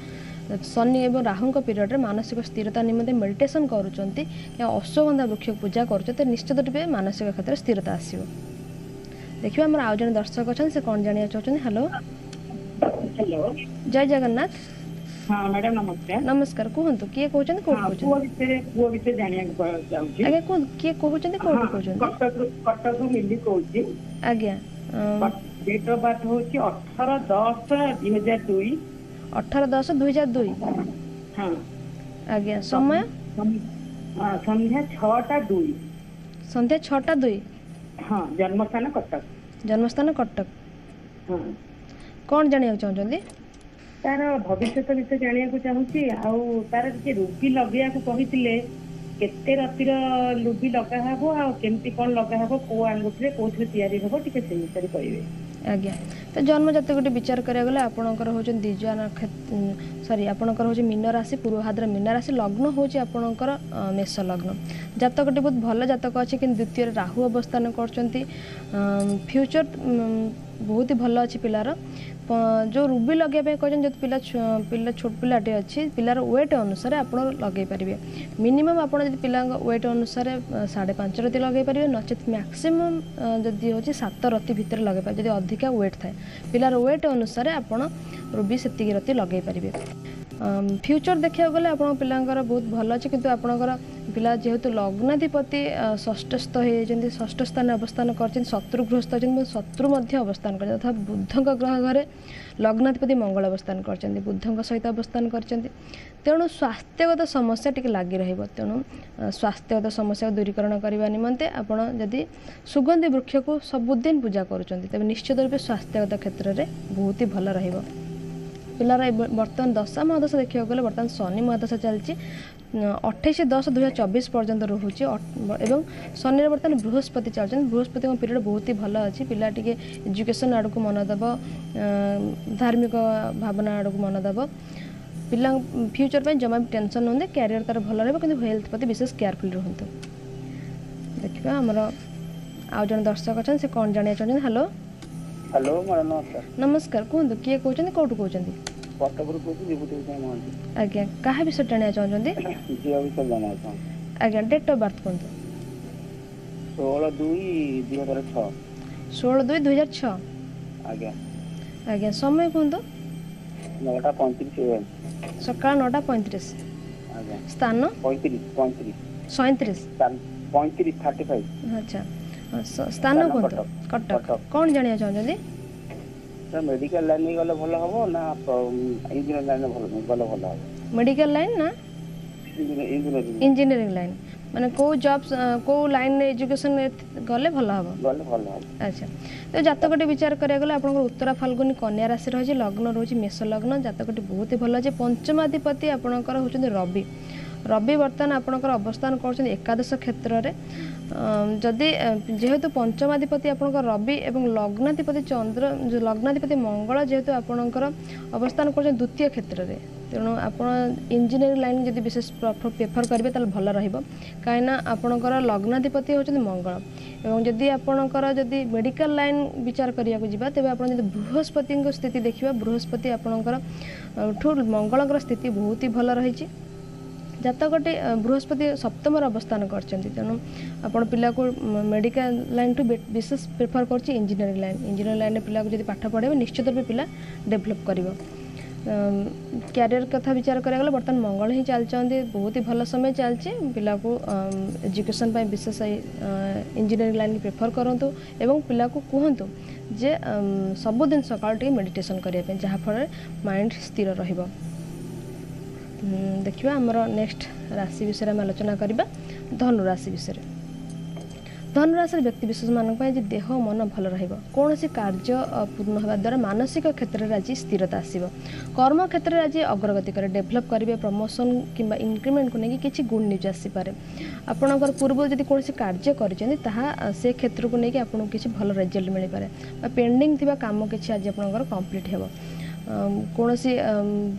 ଶନି ଏବଂ ରାହୁଙ୍କ ପିରିୟଡ଼ରେ ମାନସିକ ସ୍ଥିରତା ନିମନ୍ତେ ମେଡ଼ିଟେସନ୍ କରୁଛନ୍ତି କିମ୍ବା ଅଶ୍ୱଗନ୍ଧା ବୃକ୍ଷକୁ ପୂଜା କରୁଛନ୍ତି, ନିଶ୍ଚିତ ରୂପେ ମାନସିକ କ୍ଷେତ୍ରରେ ସ୍ଥିରତା ଆସିବ। ଦେଖିବା ଆମର ଆଉ ଜଣେ ଦର୍ଶକ ଅଛନ୍ତି, ସେ କ'ଣ ଜାଣିବାକୁ ଚାହୁଁଛନ୍ତି। ହ୍ୟାଲୋ। ହ୍ୟାଲୋ। ଜୟ ଜଗନ୍ନାଥ। ହଁ ମ୍ୟାଡାମ, ନମସ୍କାର। ନମସ୍କାର। କୁହନ୍ତୁ, କିଏ କହୁଛନ୍ତି, କୋଉଠୁ କହୁଛନ୍ତି? ପୁଅ ବିଷୟରେ ଜାଣିବାକୁ ଚାହୁଁଛି। ଆଜ୍ଞା କୁହନ୍ତୁ, କିଏ କହୁଛନ୍ତି, କୋଉଠୁ କହୁଛନ୍ତି? କଟକରୁ ମିଲି କହୁଛି। ଆଜ୍ଞା। ଡେଟ୍ ଅଫ୍ ବାର୍ଥ ହଉଛି 18/10/2002। 18/10/2002। ହଁ। ଆଜ୍ଞା, ସମୟ? ସନ୍ଧ୍ୟା 6ଟା 2। ସନ୍ଧ୍ୟା 6ଟା 2। ହଁ, ଜନ୍ମସ୍ଥାନ କଟକ। ଜନ୍ମସ୍ଥାନ କଟକ। ହଁ। କ'ଣ ଜାଣିବାକୁ ଚାହୁଁଛନ୍ତି? ତାର ଭବିଷ୍ୟତ ବିଷୟ ଜାଣିବାକୁ ଚାହୁଁଛି। ଆଉ ତାର ଟିକେ ରୁବି ଲଗେଇବାକୁ କହିଥିଲେ, କେତେ ରତିର ରୁବି ଲଗା ହବ ଆଉ କେମିତି କଣ ଲଗା ହବ, କୋଉ ଆଙ୍ଗୁଠିରେ, କୋଉଥିରେ ତିଆରି ହବ, ଟିକେ ସେଇ ବିଷୟରେ କହିବେ। ଆଜ୍ଞା, ତ ଜନ୍ମଜାତକଟି ବିଚାର କରିବାକୁ ଗଲେ ଆପଣଙ୍କର ହେଉଛନ୍ତି ଦ୍ୱିଜା ନକ୍ଷତ୍ର, ସରି, ଆପଣଙ୍କର ହେଉଛି ମୀନ ରାଶି, ପୂର୍ବଭାଦ୍ର ମୀନ ରାଶି, ଲଗ୍ନ ହେଉଛି ଆପଣଙ୍କର ମେଷ ଲଗ୍ନ। ଜାତକଟି ବହୁତ ଭଲ ଜାତକ ଅଛି, କିନ୍ତୁ ଦ୍ୱିତୀୟରେ ରାହୁ ଅବସ୍ଥାନ କରୁଛନ୍ତି। ଫ୍ୟୁଚର ବହୁତ ହି ଭଲ ଅଛି ପିଲାର। ଯେଉଁ ରୁବି ଲଗେଇବା ପାଇଁ କହିଛନ୍ତି, ଯଦି ପିଲା ଛୋଟ ପିଲାଟେ ଅଛି, ପିଲାର ୱେଟ୍ ଅନୁସାରେ ଆପଣ ଲଗେଇ ପାରିବେ। ମିନିମମ୍ ଆପଣ ଯଦି ପିଲାଙ୍କ ୱେଟ୍ ଅନୁସାରେ 5.5 ରତି ଲଗେଇ ପାରିବେ, ନଚେତ୍ ମ୍ୟାକ୍ସିମମ୍ ଯଦି ହେଉଛି 7 ରତି ଭିତରେ ଲଗେଇ ପାରିବେ। ଯଦି ଅଧିକା ୱେଟ୍ ଥାଏ, ପିଲାର ୱେଟ୍ ଅନୁସାରେ ଆପଣ ରୁବି ସେତିକି ରତି ଲଗେଇ ପାରିବେ। ଫ୍ୟୁଚର୍ ଦେଖିବାକୁ ଗଲେ ଆପଣଙ୍କ ପିଲାଙ୍କର ବହୁତ ଭଲ ଅଛି, କିନ୍ତୁ ଆପଣଙ୍କର ପିଲା ଯେହେତୁ ଲଗ୍ନାଧିପତି ଷଷ୍ଠସ୍ଥ ହେଇଯାଇଛନ୍ତି, ଷଷ୍ଠ ସ୍ଥାନରେ ଅବସ୍ଥାନ କରିଛନ୍ତି, ଶତ୍ରୁ ଗୃହସ୍ଥ ଅଛନ୍ତି, ଶତ୍ରୁ ମଧ୍ୟ ଅବସ୍ଥାନ କରିଛନ୍ତି, ତଥା ବୁଧଙ୍କ ଗ୍ରହ ଘରେ ଲଗ୍ନାଧିପତି ମଙ୍ଗଳ ଅବସ୍ଥାନ କରିଛନ୍ତି, ବୁଧଙ୍କ ସହିତ ଅବସ୍ଥାନ କରିଛନ୍ତି। ତେଣୁ ସ୍ୱାସ୍ଥ୍ୟଗତ ସମସ୍ୟା ଟିକେ ଲାଗି ରହିବ। ତେଣୁ ସ୍ୱାସ୍ଥ୍ୟଗତ ସମସ୍ୟାକୁ ଦୂରୀକରଣ କରିବା ନିମନ୍ତେ ଆପଣ ଯଦି ସୁଗନ୍ଧି ବୃକ୍ଷକୁ ସବୁଦିନ ପୂଜା କରୁଛନ୍ତି, ତେବେ ନିଶ୍ଚିତ ରୂପେ ସ୍ୱାସ୍ଥ୍ୟଗତ କ୍ଷେତ୍ରରେ ବହୁତ ହି ଭଲ ରହିବ। ପିଲାର ବର୍ତ୍ତମାନ ଦଶା ମହାଦଶା ଦେଖିବାକୁ ଗଲେ ବର୍ତ୍ତମାନ ଶନି ମହାଦଶା ଚାଲିଛି, 28/10/2024 ପର୍ଯ୍ୟନ୍ତ ରହୁଛି ଏବଂ ଶନିରେ ବର୍ତ୍ତମାନ ବୃହସ୍ପତି ଚାଲୁଛନ୍ତି। ବୃହସ୍ପତିଙ୍କ ପିରିୟଡ଼ ବହୁତ ହି ଭଲ ଅଛି। ପିଲା ଟିକେ ଏଜୁକେସନ୍ ଆଡ଼କୁ ମନ ଦେବ, ଧାର୍ମିକ ଭାବନା ଆଡ଼କୁ ମନ ଦେବ। ପିଲା ଫ୍ୟୁଚର୍ ପାଇଁ ଜମା ବି ଟେନସନ୍ ହୁଅନ୍ତି, କ୍ୟାରିୟର ତାର ଭଲ ରହିବ, କିନ୍ତୁ ହେଲ୍ଥ ପ୍ରତି ବିଶେଷ କେୟାରଫୁଲ୍ ରୁହନ୍ତୁ। ଦେଖିବା ଆମର ଆଉ ଜଣେ ଦର୍ଶକ ଅଛନ୍ତି, ସେ କ'ଣ ଜାଣିବାକୁ ଚାହୁଁଛନ୍ତି। ହ୍ୟାଲୋ। ହ୍ୟାଲୋ ମ୍ୟାଡ଼ାମ, ନମସ୍କାର। ନମସ୍କାର, କୁହନ୍ତୁ କିଏ କହୁଛନ୍ତି, କୋଉଠୁ କହୁଛନ୍ତି? କଟକରୁ କହୁଛି, ବିଭୂତି ଭୂଷଣ ମହାନ୍ତି। ଆଜ୍ଞା, କାହା ବିଷୟରେ ଜାଣିବାକୁ ଚାହୁଁଛନ୍ତି? ଝିଅ ବିଷୟରେ ଜାଣିବାକୁ ଚାହୁଁଛି। ଆଜ୍ଞା, ଡେଟ୍ ଅଫ୍ ବାର୍ଥ କୁହନ୍ତୁ। 16/2/2006। 16/2/2006। ଆଜ୍ଞା। ଆଜ୍ଞା, ସମୟ କୁହନ୍ତୁ। 9:35 AM। ସକାଳ 9:35। ଆଜ୍ଞା। ସ୍ଥାନ? 35, 35। 37? 35, 35। ଆଚ୍ଛା, ସ୍ଥାନ କୁହନ୍ତୁ। କଟକ। କ'ଣ ଜାଣିବାକୁ ଚାହୁଁଛନ୍ତି? ସାର୍, ମେଡିକାଲ ଲାଇନରେ ଗଲେ ଭଲ ହବ ନା ଇଞ୍ଜିନିୟର ଲାଇନରେ ଭଲ ଗଲେ ଭଲ ହବ? ମେଡିକାଲ ଲାଇନ୍ ନା ଇଞ୍ଜିନିୟରିଂ? ଇଞ୍ଜିନିୟରିଂ ଲାଇନ୍, ମାନେ କୋଉ ଜବ୍, କୋଉ ଲାଇନରେ ଏଜୁକେସନ୍ ଗଲେ ଭଲ ହବ? ଗଲେ ଭଲ ହବ। ଆଚ୍ଛା, ତ ଜାତକଟି ବିଚାର କରିବାକୁ ଗଲେ ଆପଣଙ୍କର ଉତ୍ତରା ଫାଲ୍ଗୁନୀ କନ୍ୟା ରାଶି ରହିଛି, ଲଗ୍ନ ରହୁଛି ମେଷ ଲଗ୍ନ। ଜାତକଟି ବହୁତ ଭଲ ଅଛି। ପଞ୍ଚମାଧିପତି ଆପଣଙ୍କର ହେଉଛନ୍ତି ରବି। ରବି ବର୍ତ୍ତମାନ ଆପଣଙ୍କର ଅବସ୍ଥାନ କରୁଛନ୍ତି ଏକାଦଶ କ୍ଷେତ୍ରରେ। ଯଦି ଯେହେତୁ ପଞ୍ଚମାଧିପତି ଆପଣଙ୍କର ରବି ଏବଂ ଲଗ୍ନାଧିପତି ଚନ୍ଦ୍ର, ଲଗ୍ନାଧିପତି ମଙ୍ଗଳ ଯେହେତୁ ଆପଣଙ୍କର ଅବସ୍ଥାନ କରୁଛନ୍ତି ଦ୍ୱିତୀୟ କ୍ଷେତ୍ରରେ, ତେଣୁ ଆପଣ ଇଞ୍ଜିନିୟରିଂ ଲାଇନ୍ ଯଦି ବିଶେଷ ପ୍ରେଫର କରିବେ ତାହେଲେ ଭଲ ରହିବ, କାହିଁକିନା ଆପଣଙ୍କର ଲଗ୍ନାଧିପତି ହେଉଛନ୍ତି ମଙ୍ଗଳ। ଏବଂ ଯଦି ଆପଣଙ୍କର ଯଦି ମେଡ଼ିକାଲ ଲାଇନ୍ ବିଚାର କରିବାକୁ ଯିବା, ତେବେ ଆପଣ ଯଦି ବୃହସ୍ପତିଙ୍କ ସ୍ଥିତି ଦେଖିବା, ବୃହସ୍ପତି ଆପଣଙ୍କର ଠୁ ମଙ୍ଗଳଙ୍କର ସ୍ଥିତି ବହୁତ ହି ଭଲ ରହିଛି। ଜାତକଟି ବୃହସ୍ପତି ସପ୍ତମରେ ଅବସ୍ଥାନ କରିଛନ୍ତି, ତେଣୁ ଆପଣ ପିଲାକୁ ମେଡ଼ିକାଲ ଲାଇନ୍ଠୁ ବିଶେଷ ପ୍ରିଫର କରୁଛି ଇଞ୍ଜିନିୟରିଂ ଲାଇନ୍। ଇଞ୍ଜିନିୟରିଂ ଲାଇନ୍ରେ ପିଲାକୁ ଯଦି ପାଠ ପଢ଼ାଇବେ, ନିଶ୍ଚିତ ରୂପେ ପିଲା ଡେଭଲପ୍ କରିବ। କ୍ୟାରିୟର କଥା ବିଚାର କରିବାକୁ ଗଲେ ବର୍ତ୍ତମାନ ମଙ୍ଗଳ ହିଁ ଚାଲିଛନ୍ତି, ବହୁତ ହି ଭଲ ସମୟ ଚାଲିଛି। ପିଲାକୁ ଏଜୁକେସନ୍ ପାଇଁ ବିଶେଷ ଇଞ୍ଜିନିୟରିଂ ଲାଇନ୍ ପ୍ରିଫର କରନ୍ତୁ ଏବଂ ପିଲାକୁ କୁହନ୍ତୁ ଯେ ସବୁଦିନ ସକାଳୁ ଟିକେ ମେଡ଼ିଟେସନ୍ କରିବା ପାଇଁ, ଯାହାଫଳରେ ମାଇଣ୍ଡ ସ୍ଥିର ରହିବ। ଦେଖିବା ଆମର ନେକ୍ସଟ ରାଶି ବିଷୟରେ ଆମେ ଆଲୋଚନା କରିବା, ଧନୁ ରାଶି ବିଷୟରେ। ଧନୁରାଶିର ବ୍ୟକ୍ତିବିଶେଷମାନଙ୍କ ପାଇଁ ଆଜି ଦେହ ମନ ଭଲ ରହିବ। କୌଣସି କାର୍ଯ୍ୟ ପୂର୍ଣ୍ଣ ହେବା ଦ୍ୱାରା ମାନସିକ କ୍ଷେତ୍ରରେ ଆଜି ସ୍ଥିରତା ଆସିବ। କର୍ମ କ୍ଷେତ୍ରରେ ଆଜି ଅଗ୍ରଗତି କରିବେ, ଡେଭଲପ୍ କରିବେ, ପ୍ରମୋସନ୍ କିମ୍ବା ଇନକ୍ରିମେଣ୍ଟକୁ ନେଇକି କିଛି ଗୁଡ୍ ନ୍ୟୁଜ୍ ଆସିପାରେ। ଆପଣଙ୍କର ପୂର୍ବରୁ ଯଦି କୌଣସି କାର୍ଯ୍ୟ କରିଛନ୍ତି, ତାହା ସେ କ୍ଷେତ୍ରକୁ ନେଇକି ଆପଣଙ୍କୁ କିଛି ଭଲ ରେଜଲ୍ଟ ମିଳିପାରେ ବା ପେଣ୍ଡିଂ ଥିବା କାମ କିଛି ଆଜି ଆପଣଙ୍କର କମ୍ପ୍ଲିଟ୍ ହେବ। କୌଣସି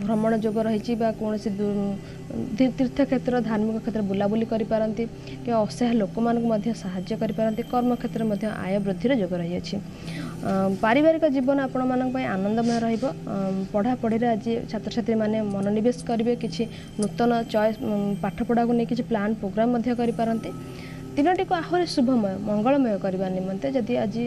ଭ୍ରମଣ ଯୋଗ ରହିଛି ବା କୌଣସି ତୀର୍ଥକ୍ଷେତ୍ର, ଧାର୍ମିକ କ୍ଷେତ୍ର ବୁଲାବୁଲି କରିପାରନ୍ତି କିମ୍ବା ଅସହାୟ ଲୋକମାନଙ୍କୁ ମଧ୍ୟ ସାହାଯ୍ୟ କରିପାରନ୍ତି। କର୍ମକ୍ଷେତ୍ରରେ ମଧ୍ୟ ଆୟ ବୃଦ୍ଧିର ଯୋଗ ରହିଅଛି। ପାରିବାରିକ ଜୀବନ ଆପଣମାନଙ୍କ ପାଇଁ ଆନନ୍ଦମୟ ରହିବ। ପଢ଼ାପଢ଼ିରେ ଆଜି ଛାତ୍ରଛାତ୍ରୀମାନେ ମନୋନିବେଶ କରିବେ, କିଛି ନୂତନ ଚଏସ୍ ପାଠପଢ଼ାକୁ ନେଇ କିଛି ପ୍ଲାନ୍ ପ୍ରୋଗ୍ରାମ୍ ମଧ୍ୟ କରିପାରନ୍ତି। ଦିନଟିକୁ ଆହୁରି ଶୁଭମୟ ମଙ୍ଗଳମୟ କରିବା ନିମନ୍ତେ ଯଦି ଆଜି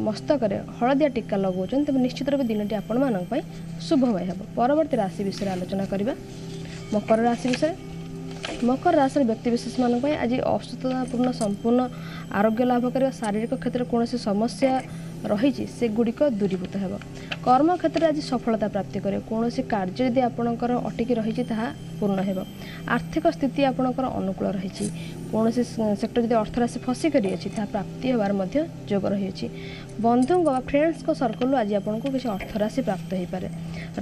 ମସ୍ତକରେ ହଳଦିଆ ଟୀକା ଲଗାଉଛନ୍ତି, ତେବେ ନିଶ୍ଚିତ ରୂପେ ଦିନଟି ଆପଣମାନଙ୍କ ପାଇଁ ଶୁଭମୟ ହେବ। ପରବର୍ତ୍ତୀ ରାଶି ବିଷୟରେ ଆଲୋଚନା କରିବା, ମକର ରାଶି ବିଷୟରେ। ମକର ରାଶିର ବ୍ୟକ୍ତିବିଶେଷମାନଙ୍କ ପାଇଁ ଆଜି ଅସୁସ୍ଥତାପୂର୍ଣ୍ଣ ସମ୍ପୂର୍ଣ୍ଣ ଆରୋଗ୍ୟ ଲାଭ କରିବା, ଶାରୀରିକ କ୍ଷେତ୍ରରେ କୌଣସି ସମସ୍ୟା ରହିଛି ସେଗୁଡ଼ିକ ଦୂରୀଭୂତ ହେବ। କର୍ମକ୍ଷେତ୍ରରେ ଆଜି ସଫଳତା ପ୍ରାପ୍ତି କରିବେ। କୌଣସି କାର୍ଯ୍ୟ ଯଦି ଆପଣଙ୍କର ଅଟକି ରହିଛି ତାହା ପୂର୍ଣ୍ଣ ହେବ। ଆର୍ଥିକ ସ୍ଥିତି ଆପଣଙ୍କର ଅନୁକୂଳ ରହିଛି। କୌଣସି ସେକ୍ଟର ଯଦି ଅର୍ଥରାଶି ଫସି କରିଅଛି ତାହା ପ୍ରାପ୍ତି ହେବାର ମଧ୍ୟ ଯୋଗ ରହିଅଛି। ବନ୍ଧୁଙ୍କ ବା ଫ୍ରେଣ୍ଡସ୍ଙ୍କ ସର୍କଲରୁ ଆଜି ଆପଣଙ୍କୁ କିଛି ଅର୍ଥରାଶି ପ୍ରାପ୍ତ ହୋଇପାରେ।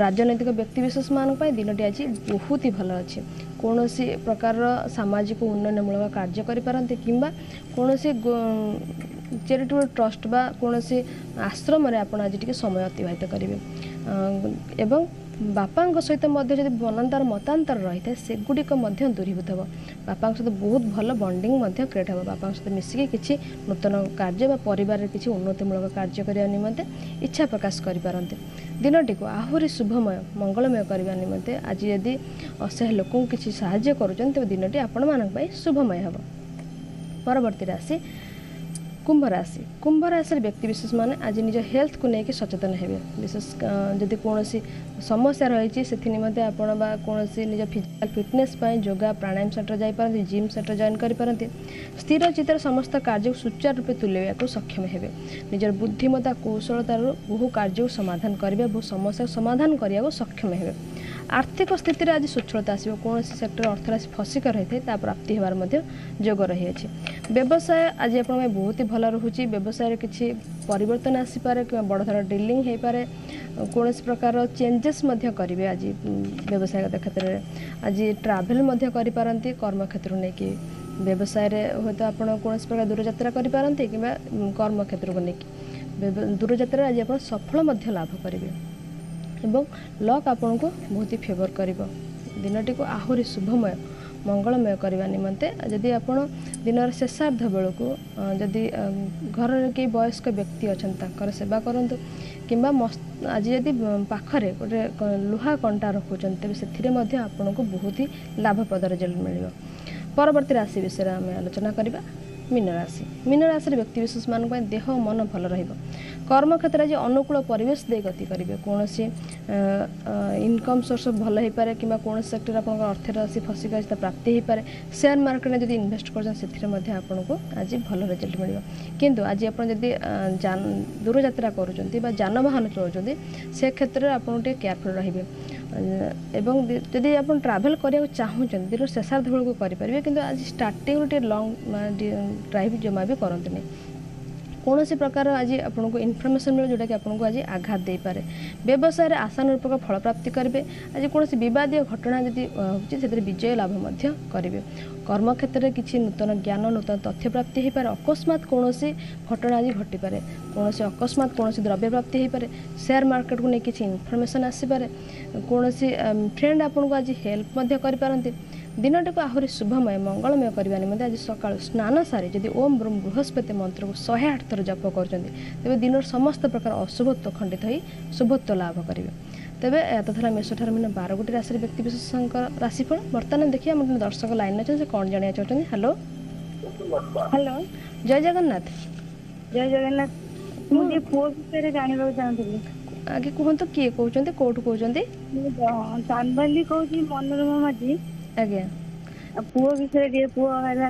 ରାଜନୈତିକ ବ୍ୟକ୍ତିବିଶେଷମାନଙ୍କ ପାଇଁ ଦିନଟି ଆଜି ବହୁତ ହି ଭଲ ଅଛି। କୌଣସି ପ୍ରକାରର ସାମାଜିକ ଉନ୍ନୟନମୂଳକ କାର୍ଯ୍ୟ କରିପାରନ୍ତି କିମ୍ବା କୌଣସି ଚାରିଟେବଲ୍ ଟ୍ରଷ୍ଟ ବା କୌଣସି ଆଶ୍ରମରେ ଆପଣ ଆଜି ଟିକେ ସମୟ ଅତିବାହିତ କରିବେ ଏବଂ ବାପାଙ୍କ ସହିତ ମଧ୍ୟ ଯଦି ମନାନ୍ତର ମତାନ୍ତର ରହିଥାଏ ସେଗୁଡ଼ିକ ମଧ୍ୟ ଦୂରୀଭୂତ ହେବ। ବାପାଙ୍କ ସହିତ ବହୁତ ଭଲ ବଣ୍ଡିଙ୍ଗ ମଧ୍ୟ କ୍ରିଏଟ୍ ହେବ। ବାପାଙ୍କ ସହିତ ମିଶିକି କିଛି ନୂତନ କାର୍ଯ୍ୟ ବା ପରିବାରରେ କିଛି ଉନ୍ନତିମୂଳକ କାର୍ଯ୍ୟ କରିବା ନିମନ୍ତେ ଇଚ୍ଛା ପ୍ରକାଶ କରିପାରନ୍ତି। ଦିନଟିକୁ ଆହୁରି ଶୁଭମୟ ମଙ୍ଗଳମୟ କରିବା ନିମନ୍ତେ ଆଜି ଯଦି ଅସହାୟ ଲୋକଙ୍କୁ କିଛି ସାହାଯ୍ୟ କରୁଛନ୍ତି, ତେବେ ଦିନଟି ଆପଣମାନଙ୍କ ପାଇଁ ଶୁଭମୟ ହେବ। ପରବର୍ତ୍ତୀ ରାଶି କୁମ୍ଭ ରାଶି। କୁମ୍ଭ ରାଶିର ବ୍ୟକ୍ତିବିଶେଷମାନେ ଆଜି ନିଜ ହେଲ୍ଥକୁ ନେଇକି ସଚେତନ ହେବେ। ବିଶେଷ ଯଦି କୌଣସି ସମସ୍ୟା ରହିଛି, ସେଥି ନିମନ୍ତେ ଆପଣ ବା କୌଣସି ନିଜ ଫିଜିକାଲ ଫିଟନେସ୍ ପାଇଁ ଯୋଗା, ପ୍ରାଣାୟାମ ସେଣ୍ଟର ଯାଇପାରନ୍ତି, ଜିମ୍ ସେଣ୍ଟର ଜଏନ୍ କରିପାରନ୍ତି। ସ୍ଥିର ଚିତ୍ତରେ ସମସ୍ତ କାର୍ଯ୍ୟକୁ ସୁଚାରୁ ରୂପେ ତୁଲାଇବାକୁ ସକ୍ଷମ ହେବେ। ନିଜର ବୁଦ୍ଧିମତା, କୌଶଳତାରୁ ବହୁ କାର୍ଯ୍ୟକୁ ସମାଧାନ କରିବେ, ବହୁ ସମସ୍ୟାକୁ ସମାଧାନ କରିବାକୁ ସକ୍ଷମ ହେବେ। ଆର୍ଥିକ ସ୍ଥିତିରେ ଆଜି ସ୍ୱଚ୍ଛଳତା ଆସିବ। କୌଣସି ସେକ୍ଟର ଅର୍ଥରାଶି ଫସିକ ରହିଥାଏ, ତା ପ୍ରାପ୍ତି ହେବାର ମଧ୍ୟ ଯୋଗ ରହିଅଛି। ବ୍ୟବସାୟ ଆଜି ଆପଣଙ୍କ ପାଇଁ ବହୁତ ହି ଭଲ ରହୁଛି। ବ୍ୟବସାୟରେ କିଛି ପରିବର୍ତ୍ତନ ଆସିପାରେ କିମ୍ବା ବଡ଼ ଧରଣ ଡିଲିଂ ହେଇପାରେ। କୌଣସି ପ୍ରକାର ଚେଞ୍ଜେସ୍ ମଧ୍ୟ କରିବେ ଆଜି ବ୍ୟବସାୟଗତ କ୍ଷେତ୍ରରେ। ଆଜି ଟ୍ରାଭେଲ୍ ମଧ୍ୟ କରିପାରନ୍ତି କର୍ମକ୍ଷେତ୍ରକୁ ନେଇକି। ବ୍ୟବସାୟରେ ହୁଏତ ଆପଣ କୌଣସି ପ୍ରକାର ଦୂରଯାତ୍ରା କରିପାରନ୍ତି କିମ୍ବା କର୍ମକ୍ଷେତ୍ରକୁ ନେଇକି ଦୂରଯାତ୍ରାରେ ଆଜି ଆପଣ ସଫଳ ମଧ୍ୟ ଲାଭ କରିବେ ଏବଂ ଲକ୍ ଆପଣଙ୍କୁ ବହୁତ ହି ଫେଭର କରିବ। ଦିନଟିକୁ ଆହୁରି ଶୁଭମୟ, ମଙ୍ଗଳମୟ କରିବା ନିମନ୍ତେ ଯଦି ଆପଣ ଦିନର ଶେଷାର୍ଦ୍ଧ ବେଳକୁ ଯଦି ଘରରେ କେହି ବୟସ୍କ ବ୍ୟକ୍ତି ଅଛନ୍ତି, ତାଙ୍କର ସେବା କରନ୍ତୁ କିମ୍ବା ଆଜି ଯଦି ପାଖରେ ଗୋଟେ ଲୁହା କଣ୍ଟା ରଖୁଛନ୍ତି, ତେବେ ସେଥିରେ ମଧ୍ୟ ଆପଣଙ୍କୁ ବହୁତ ହି ଲାଭପ୍ରଦ ରେଜଲ୍ଟ ମିଳିବ। ପରବର୍ତ୍ତୀ ରାଶି ବିଷୟରେ ଆମେ ଆଲୋଚନା କରିବା, ମୀନ ରାଶି। ମୀନ ରାଶିର ବ୍ୟକ୍ତିବିଶେଷମାନଙ୍କ ପାଇଁ ଦେହ ଓ ମନ ଭଲ ରହିବ। କର୍ମକ୍ଷେତ୍ରରେ ଆଜି ଅନୁକୂଳ ପରିବେଶ ଦେଇ ଗତି କରିବେ। କୌଣସି ଇନକମ୍ ସୋର୍ସ ଭଲ ହେଇପାରେ କିମ୍ବା କୌଣସି ସେକ୍ଟରରେ ଆପଣଙ୍କର ଅର୍ଥରାଶି ଫସିକି ଅଛି, ତା ପ୍ରାପ୍ତି ହେଇପାରେ। ସେୟାର ମାର୍କେଟରେ ଯଦି ଇନଭେଷ୍ଟ କରୁଛନ୍ତି, ସେଥିରେ ମଧ୍ୟ ଆପଣଙ୍କୁ ଆଜି ଭଲ ରେଜଲ୍ଟ ମିଳିବ। କିନ୍ତୁ ଆଜି ଆପଣ ଯଦି ଦୂରଯାତ୍ରା କରୁଛନ୍ତି ବା ଯାନବାହନ ଚଳାଉଛନ୍ତି, ସେ କ୍ଷେତ୍ରରେ ଆପଣ ଟିକେ କେୟାରଫୁଲ୍ ରହିବେ ଏବଂ ଯଦି ଆପଣ ଟ୍ରାଭେଲ୍ କରିବାକୁ ଚାହୁଁଛନ୍ତି, ଦିନର ଶେଷାର୍ଦ୍ଧ ବେଳକୁ କରିପାରିବେ। କିନ୍ତୁ ଆଜି ଷ୍ଟାର୍ଟିଂରୁ ଟିକେ ଲଙ୍ଗ୍ ଡ୍ରାଇଭ୍ ଜମା ବି କରନ୍ତୁନି। କୌଣସି ପ୍ରକାର ଆଜି ଆପଣଙ୍କୁ ଇନଫର୍ମେସନ୍ ମିଳିବ, ଯେଉଁଟାକି ଆପଣଙ୍କୁ ଆଜି ଆଘାତ ଦେଇପାରେ। ବ୍ୟବସାୟରେ ଆଶାନୁରୂପକ ଫଳ ପ୍ରାପ୍ତି କରିବେ। ଆଜି କୌଣସି ବିବାଦୀୟ ଘଟଣା ଯଦି ହେଉଛି, ସେଥିରେ ବିଜୟ ଲାଭ ମଧ୍ୟ କରିବେ। କର୍ମକ୍ଷେତ୍ରରେ କିଛି ନୂତନ ଜ୍ଞାନ, ନୂତନ ତଥ୍ୟ ପ୍ରାପ୍ତି ହୋଇପାରେ। ଅକସ୍ମାତ କୌଣସି ଘଟଣା ଆଜି ଘଟିପାରେ। କୌଣସି ଅକସ୍ମାତ କୌଣସି ଦ୍ରବ୍ୟ ପ୍ରାପ୍ତି ହୋଇପାରେ। ସେୟାର ମାର୍କେଟକୁ ନେଇ କିଛି ଇନଫର୍ମେସନ୍ ଆସିପାରେ। କୌଣସି ଫ୍ରେଣ୍ଡ ଆପଣଙ୍କୁ ଆଜି ହେଲ୍ପ ମଧ୍ୟ କରିପାରନ୍ତି। ଦିନଟିକୁ ଆହୁରି ଶୁଭମୟ, ମଙ୍ଗଳମୟ କରିବା ନିମନ୍ତେ ଆଜି ସକାଳୁ ସ୍ନାନ ସାରି ଯଦି ଓମ୍ ବ୍ରୁମ୍ ବୃହସ୍ପତି ମନ୍ତ୍ରକୁ 108 ଥର ଜପ କରୁଛନ୍ତି, ତେବେ ଦିନର ସମସ୍ତ ପ୍ରକାର ଅଶୁଭତ୍ୱ ଖଣ୍ଡିତ ହୋଇ ଶୁଭତ୍ୱ ଲାଭ କରିବେ। ତେବେ ଏହା ତ ଥିଲା ମେଷଠାରୁ ମୀନ 12 ଗୋଟି ରାଶିର ବ୍ୟକ୍ତିବିଶେଷଙ୍କ ରାଶିଫଳ। ବର୍ତ୍ତମାନ ଦେଖିବା, ଆମର ଦର୍ଶକ ଲାଇନ୍ ଅଛନ୍ତି, ସେ କ'ଣ ଜାଣିବାକୁ ଚାହୁଁଛନ୍ତି। ହ୍ୟାଲୋ। ହ୍ୟାଲୋ। ଜୟ ଜଗନ୍ନାଥ। ଜୟ ଜଗନ୍ନାଥ। ମୁଁ ଟିକେ ପୁଅ ବିଷୟରେ ଜାଣିବାକୁ ଚାହୁଁଥିଲି। ଆଜ୍ଞା କୁହନ୍ତୁ, କିଏ କହୁଛନ୍ତି, କୋଉଠୁ କହୁଛନ୍ତି? ମୁଁ ଚାନ୍ଦବାଲି କହୁଛି, ମନୋରମା ମାଝୀ। ଆଜ୍ଞା। ପୁଅ ବିଷୟରେ ଟିକେ, ପୁଅ ହେଲା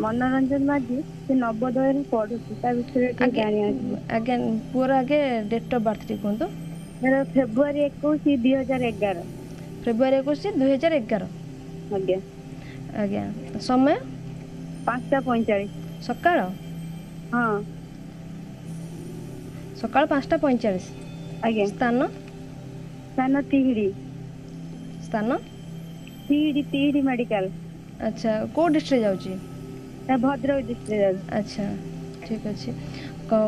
ମନୋରଞ୍ଜନ ମାଝୀ, ସେ ନବୋଦୟରେ ପଢୁଛି, ତା ବିଷୟରେ ଟିକେ ଜାଣିବାକୁ। ଆଜ୍ଞା, ପୁଅର ଆଗେ ଡେଟ୍ ଅଫ୍ ବାର୍ଥ ଟିକେ କୁହନ୍ତୁ। ତାର ଫେବୃଆରୀ 21 2011। ଫେବୃଆରୀ 21 2011। ଆଜ୍ଞା। ଆଜ୍ଞା, ସମୟ? 5:45। ସକାଳ? ହଁ। ସକାଳ 5:45। ଆଜ୍ଞା। ସ୍ଥାନ? ସ୍ଥାନ ତିହିଡି। ସ୍ଥାନ? ତିହିଡି, ତିହିଡି ମେଡିକାଲ। ଆଚ୍ଛା, କୋଉ ଡିଷ୍ଟ୍ରିକ୍ଟ ଯାଉଛି? ଭଦ୍ରକ ଡିଷ୍ଟ୍ରିକ୍ଟ ଯାଉଛି। ଆଚ୍ଛା, ଠିକ ଅଛି।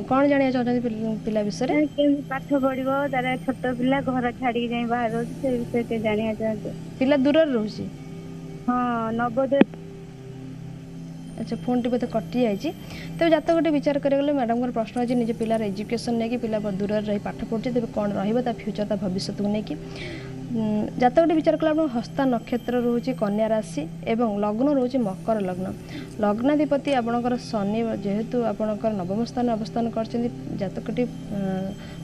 କ'ଣ ଜାଣିବାକୁ ଚାହୁଁଛନ୍ତି ପିଲା ବିଷୟରେ? କେମିତି ପାଠ ପଢିବ, ତାର ଛୋଟ ପିଲା, ଘର ଛାଡିକି ଯାଇ ବାହାରେ ରହୁଛି, ସେ ବିଷୟରେ ଟିକେ ଜାଣିବାକୁ ଚାହୁଁଛି। ପିଲା ଦୂରରେ ରହୁଛି? ହଁ, ନବୋଦୟ। ଆଚ୍ଛା, ଫୋନ୍ଟି ବୋଧେ କଟିଯାଇଛି। ତେବେ ଜାତକଟି ବିଚାର କରିବାକୁ ଗଲେ ମ୍ୟାଡ଼ାମଙ୍କର ପ୍ରଶ୍ନ ଅଛି ନିଜ ପିଲାର ଏଜୁକେସନ୍ ନେଇକି। ପିଲା ଦୂରରେ ରହି ପାଠ ପଢ଼ୁଛି, ତେବେ କ'ଣ ରହିବ ତା ଫ୍ୟୁଚର୍, ତା ଭବିଷ୍ୟତକୁ ନେଇକି। ଜାତକଟି ବିଚାର କଲେ ଆପଣଙ୍କ ହସ୍ତା ନକ୍ଷତ୍ର ରହୁଛି, କନ୍ୟା ରାଶି ଏବଂ ଲଗ୍ନ ରହୁଛି ମକର ଲଗ୍ନ। ଲଗ୍ନାଧିପତି ଆପଣଙ୍କର ଶନି ଯେହେତୁ ଆପଣଙ୍କର ନବମ ସ୍ଥାନରେ ଅବସ୍ଥାନ କରିଛନ୍ତି, ଜାତକଟି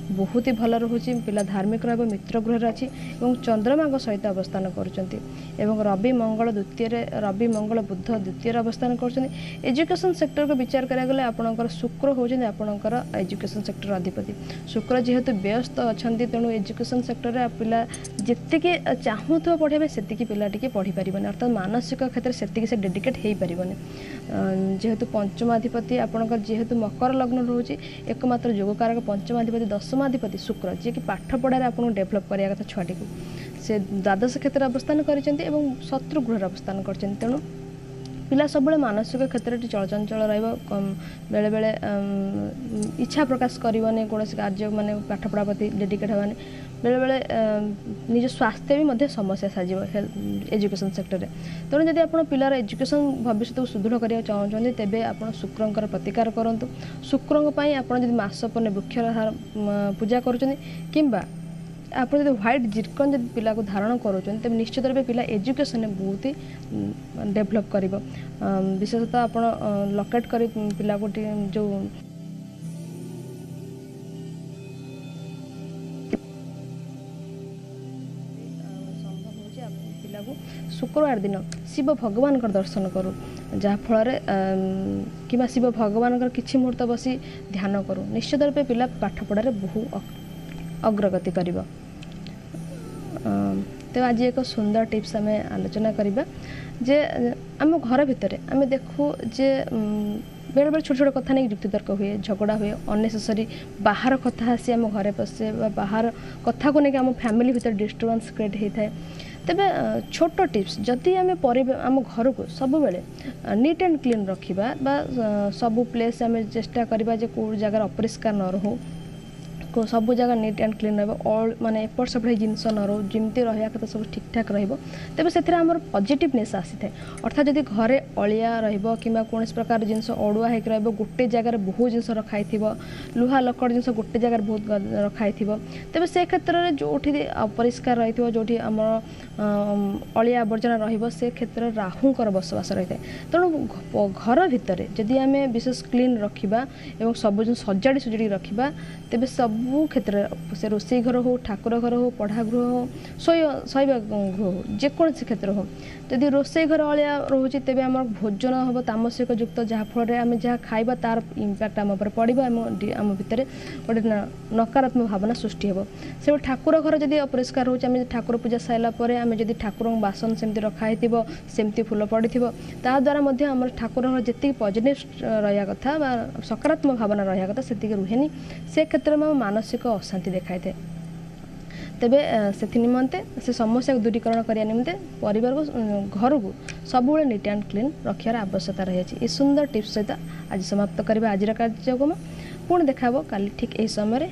ବହୁତ ହି ଭଲ ରହୁଛି। ପିଲା ଧାର୍ମିକ ରହିବ, ମିତ୍ର ଗୃହରେ ଅଛି ଏବଂ ଚନ୍ଦ୍ରମାଙ୍କ ସହିତ ଅବସ୍ଥାନ କରୁଛନ୍ତି ଏବଂ ରବି ମଙ୍ଗଳ ଦ୍ୱିତୀୟରେ, ରବି ମଙ୍ଗଳ ବୁଧ ଦ୍ୱିତୀୟରେ ଅବସ୍ଥାନ କରୁଛନ୍ତି। ଏଜୁକେସନ୍ ସେକ୍ଟରକୁ ବିଚାର କରିବାକୁ ଗଲେ ଆପଣଙ୍କର ଶୁକ୍ର ହେଉଛନ୍ତି ଆପଣଙ୍କର ଏଜୁକେସନ୍ ସେକ୍ଟର ଅଧିପତି। ଶୁକ୍ର ଯେହେତୁ ବ୍ୟସ୍ତ ଅଛନ୍ତି, ତେଣୁ ଏଜୁକେସନ୍ ସେକ୍ଟରରେ ପିଲା ଯେତିକି ଚାହୁଁଥିବ ପଢ଼ିବା ପାଇଁ, ସେତିକି ପିଲା ଟିକେ ପଢ଼ିପାରିବନି, ଅର୍ଥାତ୍ ମାନସିକ କ୍ଷେତ୍ରରେ ସେତିକି ସେ ଡେଡିକେଟ୍ ହେଇପାରିବନି। ଯେହେତୁ ପଞ୍ଚମାଧିପତି ଆପଣଙ୍କର, ଯେହେତୁ ମକର ଲଗ୍ନ ରହୁଛି, ଏକମାତ୍ର ଯୋଗକାରକ ପଞ୍ଚମାଧିପତି, ଦଶମାଧିପତି ଶୁକ୍ର, ଯିଏକି ପାଠ ପଢ଼ାରେ ଆପଣଙ୍କୁ ଡେଭଲପ୍ କରିବା କଥା ଛୁଆଟିକୁ, ସେ ଦ୍ୱାଦଶ କ୍ଷେତ୍ରରେ ଅବସ୍ଥାନ କରିଛନ୍ତି ଏବଂ ଶତ୍ରୁ ଗୃହରେ ଅବସ୍ଥାନ କରିଛନ୍ତି। ତେଣୁ ପିଲା ସବୁବେଳେ ମାନସିକ କ୍ଷେତ୍ରରେ ଟିକେ ଚଳଚଞ୍ଚଳ ରହିବ। ବେଳେବେଳେ ଇଚ୍ଛା ପ୍ରକାଶ କରିବନି କୌଣସି କାର୍ଯ୍ୟ, ମାନେ ପାଠପଢ଼ା ପ୍ରତି ଡେଡିକେଟ୍ ହେବାନି। ବେଳେବେଳେ ନିଜ ସ୍ୱାସ୍ଥ୍ୟ ବି ମଧ୍ୟ ସମସ୍ୟା ସାଜିବ ଏଜୁକେସନ୍ ସେକ୍ଟରରେ। ତେଣୁ ଯଦି ଆପଣ ପିଲାର ଏଜୁକେସନ୍ ଭବିଷ୍ୟତକୁ ସୁଦୃଢ଼ କରିବାକୁ ଚାହୁଁଛନ୍ତି, ତେବେ ଆପଣ ଶୁକ୍ରଙ୍କର ପ୍ରତିକାର କରନ୍ତୁ। ଶୁକ୍ରଙ୍କ ପାଇଁ ଆପଣ ଯଦି ମାସ ପରେ ବୃକ୍ଷର ପୂଜା କରୁଛନ୍ତି କିମ୍ବା ଆପଣ ଯଦି ହ୍ୱାଇଟ୍ ଜିର୍କନ୍ ଯଦି ପିଲାକୁ ଧାରଣ କରୁଛନ୍ତି, ତେବେ ନିଶ୍ଚିତ ରୂପେ ପିଲା ଏଜୁକେସନରେ ବହୁତ ହି ଡେଭଲପ୍ କରିବ। ବିଶେଷତଃ ଆପଣ ଲକେଟ୍ କରି ପିଲାକୁ ଟିକେ ଯେଉଁ ସମ୍ଭବ ହେଉଛି, ପିଲାକୁ ଶୁକ୍ରବାର ଦିନ ଶିବ ଭଗବାନଙ୍କର ଦର୍ଶନ କରୁ, ଯାହାଫଳରେ କିମ୍ବା ଶିବ ଭଗବାନଙ୍କର କିଛି ମୁହୂର୍ତ୍ତ ବସି ଧ୍ୟାନ କରୁ, ନିଶ୍ଚିତ ରୂପେ ପିଲା ପାଠପଢ଼ାରେ ବହୁ ଅଗ୍ରଗତି କରିବ। ତ ଆଜି ଏକ ସୁନ୍ଦର ଟିପ୍ସ ଆମେ ଆଲୋଚନା କରିବା ଯେ ଆମ ଘର ଭିତରେ ଆମେ ଦେଖୁ ଯେ ବେଳେବେଳେ ଛୋଟ ଛୋଟ କଥା ନେଇକି ଯୁକ୍ତିତର୍କ ହୁଏ, ଝଗଡ଼ା ହୁଏ, ଅନ୍ନେସେସରି ବାହାର କଥା ଆସି ଆମ ଘରେ ପଶେ ବା ବାହାର କଥାକୁ ନେଇକି ଆମ ଫ୍ୟାମିଲି ଭିତରେ ଡିଷ୍ଟର୍ବାନ୍ସ କ୍ରିଏଟ୍ ହେଇଥାଏ। ତେବେ ଛୋଟ ଟିପ୍ସ, ଯଦି ଆମେ ଆମ ଘରକୁ ସବୁବେଳେ ନିଟ୍ ଆଣ୍ଡ କ୍ଲିନ୍ ରଖିବା ବା ସବୁ ପ୍ଲେସ୍ ଆମେ ଚେଷ୍ଟା କରିବା ଯେ କେଉଁ ଜାଗାରେ ଅପରିଷ୍କାର ନ ରହୁ, ସବୁ ଜାଗା ନିଟ୍ ଆଣ୍ଡ କ୍ଲିନ୍ ରହିବ, ଅଲ୍ ମାନେ ଏପଟ ସେପଟ ହେଇ ଜିନିଷ ନ ରହୁ, ଯେମିତି ରହିବା କଥା ସବୁ ଠିକ୍ଠାକ୍ ରହିବ, ତେବେ ସେଥିରେ ଆମର ପଜିଟିଭନେସ୍ ଆସିଥାଏ। ଅର୍ଥାତ୍ ଯଦି ଘରେ ଅଳିଆ ରହିବ କିମ୍ବା କୌଣସି ପ୍ରକାର ଜିନିଷ ଅଡ଼ୁଆ ହେଇକି ରହିବ, ଗୋଟେ ଜାଗାରେ ବହୁତ ଜିନିଷ ରଖା ହେଇଥିବ, ଲୁହା ଲକଡ଼ ଜିନିଷ ଗୋଟେ ଜାଗାରେ ବହୁତ ରଖା ହେଇଥିବ, ତେବେ ସେ କ୍ଷେତ୍ରରେ ଯେଉଁଠି ଅପରିଷ୍କାର ରହିଥିବ, ଯେଉଁଠି ଆମର ଅଳିଆ ଆବର୍ଜନା ରହିବ, ସେ କ୍ଷେତ୍ରରେ ରାହୁଙ୍କର ବସବାସ ରହିଥାଏ। ତେଣୁ ଘର ଭିତରେ ଯଦି ଆମେ ବିଶେଷ କ୍ଲିନ୍ ରଖିବା ଏବଂ ସବୁ ଜିନିଷ ସଜାଡ଼ି ସୁଜାଡ଼ି ରଖିବା, ତେବେ ସବୁ କ୍ଷେତ୍ରରେ, ସେ ରୋଷେଇ ଘର ହଉ, ଠାକୁର ଘର ହଉ, ପଢ଼ା ଗୃହ ହଉ, ଶୋଇବା ଗୃହ ହଉ, ଯେକୌଣସି କ୍ଷେତ୍ର ହଉ, ଯଦି ରୋଷେଇ ଘର ଅଳିଆ ରହୁଛି, ତେବେ ଆମର ଭୋଜନ ହେବ ତାମସିକ ଯୁକ୍ତ, ଯାହାଫଳରେ ଆମେ ଯାହା ଖାଇବା ତାର ଇମ୍ପାକ୍ଟ ଆମ ଉପରେ ପଡ଼ିବ, ଆମ ଭିତରେ ଗୋଟେ ନକାରାତ୍ମକ ଭାବନା ସୃଷ୍ଟି ହେବ। ସେଭଳି ଠାକୁର ଘର ଯଦି ଅପରିଷ୍କାର ରହୁଛି, ଆମେ ଠାକୁର ପୂଜା ସାରିଲା ପରେ ଆମେ ଯଦି ଠାକୁରଙ୍କ ବାସନ ସେମିତି ରଖା ହେଇଥିବ, ସେମିତି ଫୁଲ ପଡ଼ିଥିବ, ତାଦ୍ୱାରା ମଧ୍ୟ ଆମର ଠାକୁର ଘର ଯେତିକି ପଜିଟିଭ୍ ରହିବା କଥା ବା ସକାରାତ୍ମକ ଭାବନା ରହିବା କଥା ସେତିକି ରୁହେନି। ସେ କ୍ଷେତ୍ରରେ ଆମ ମାନସିକ ଅଶାନ୍ତି ଦେଖାଇଥାଏ। ତେବେ ସେଥି ନିମନ୍ତେ, ସେ ସମସ୍ୟାକୁ ଦୂରୀକରଣ କରିବା ନିମନ୍ତେ ପରିବାରକୁ, ଘରକୁ ସବୁବେଳେ ନିଟ୍ ଆଣ୍ଡ କ୍ଲିନ୍ ରଖିବାର ଆବଶ୍ୟକତା ରହିଅଛି। ଏ ସୁନ୍ଦର ଟିପ୍ସ ସହିତ ଆଜି ସମାପ୍ତ କରିବା ଆଜିର କାର୍ଯ୍ୟକ୍ରମ। ପୁଣି ଦେଖା ହେବ କାଲି ଠିକ୍ ଏହି ସମୟରେ।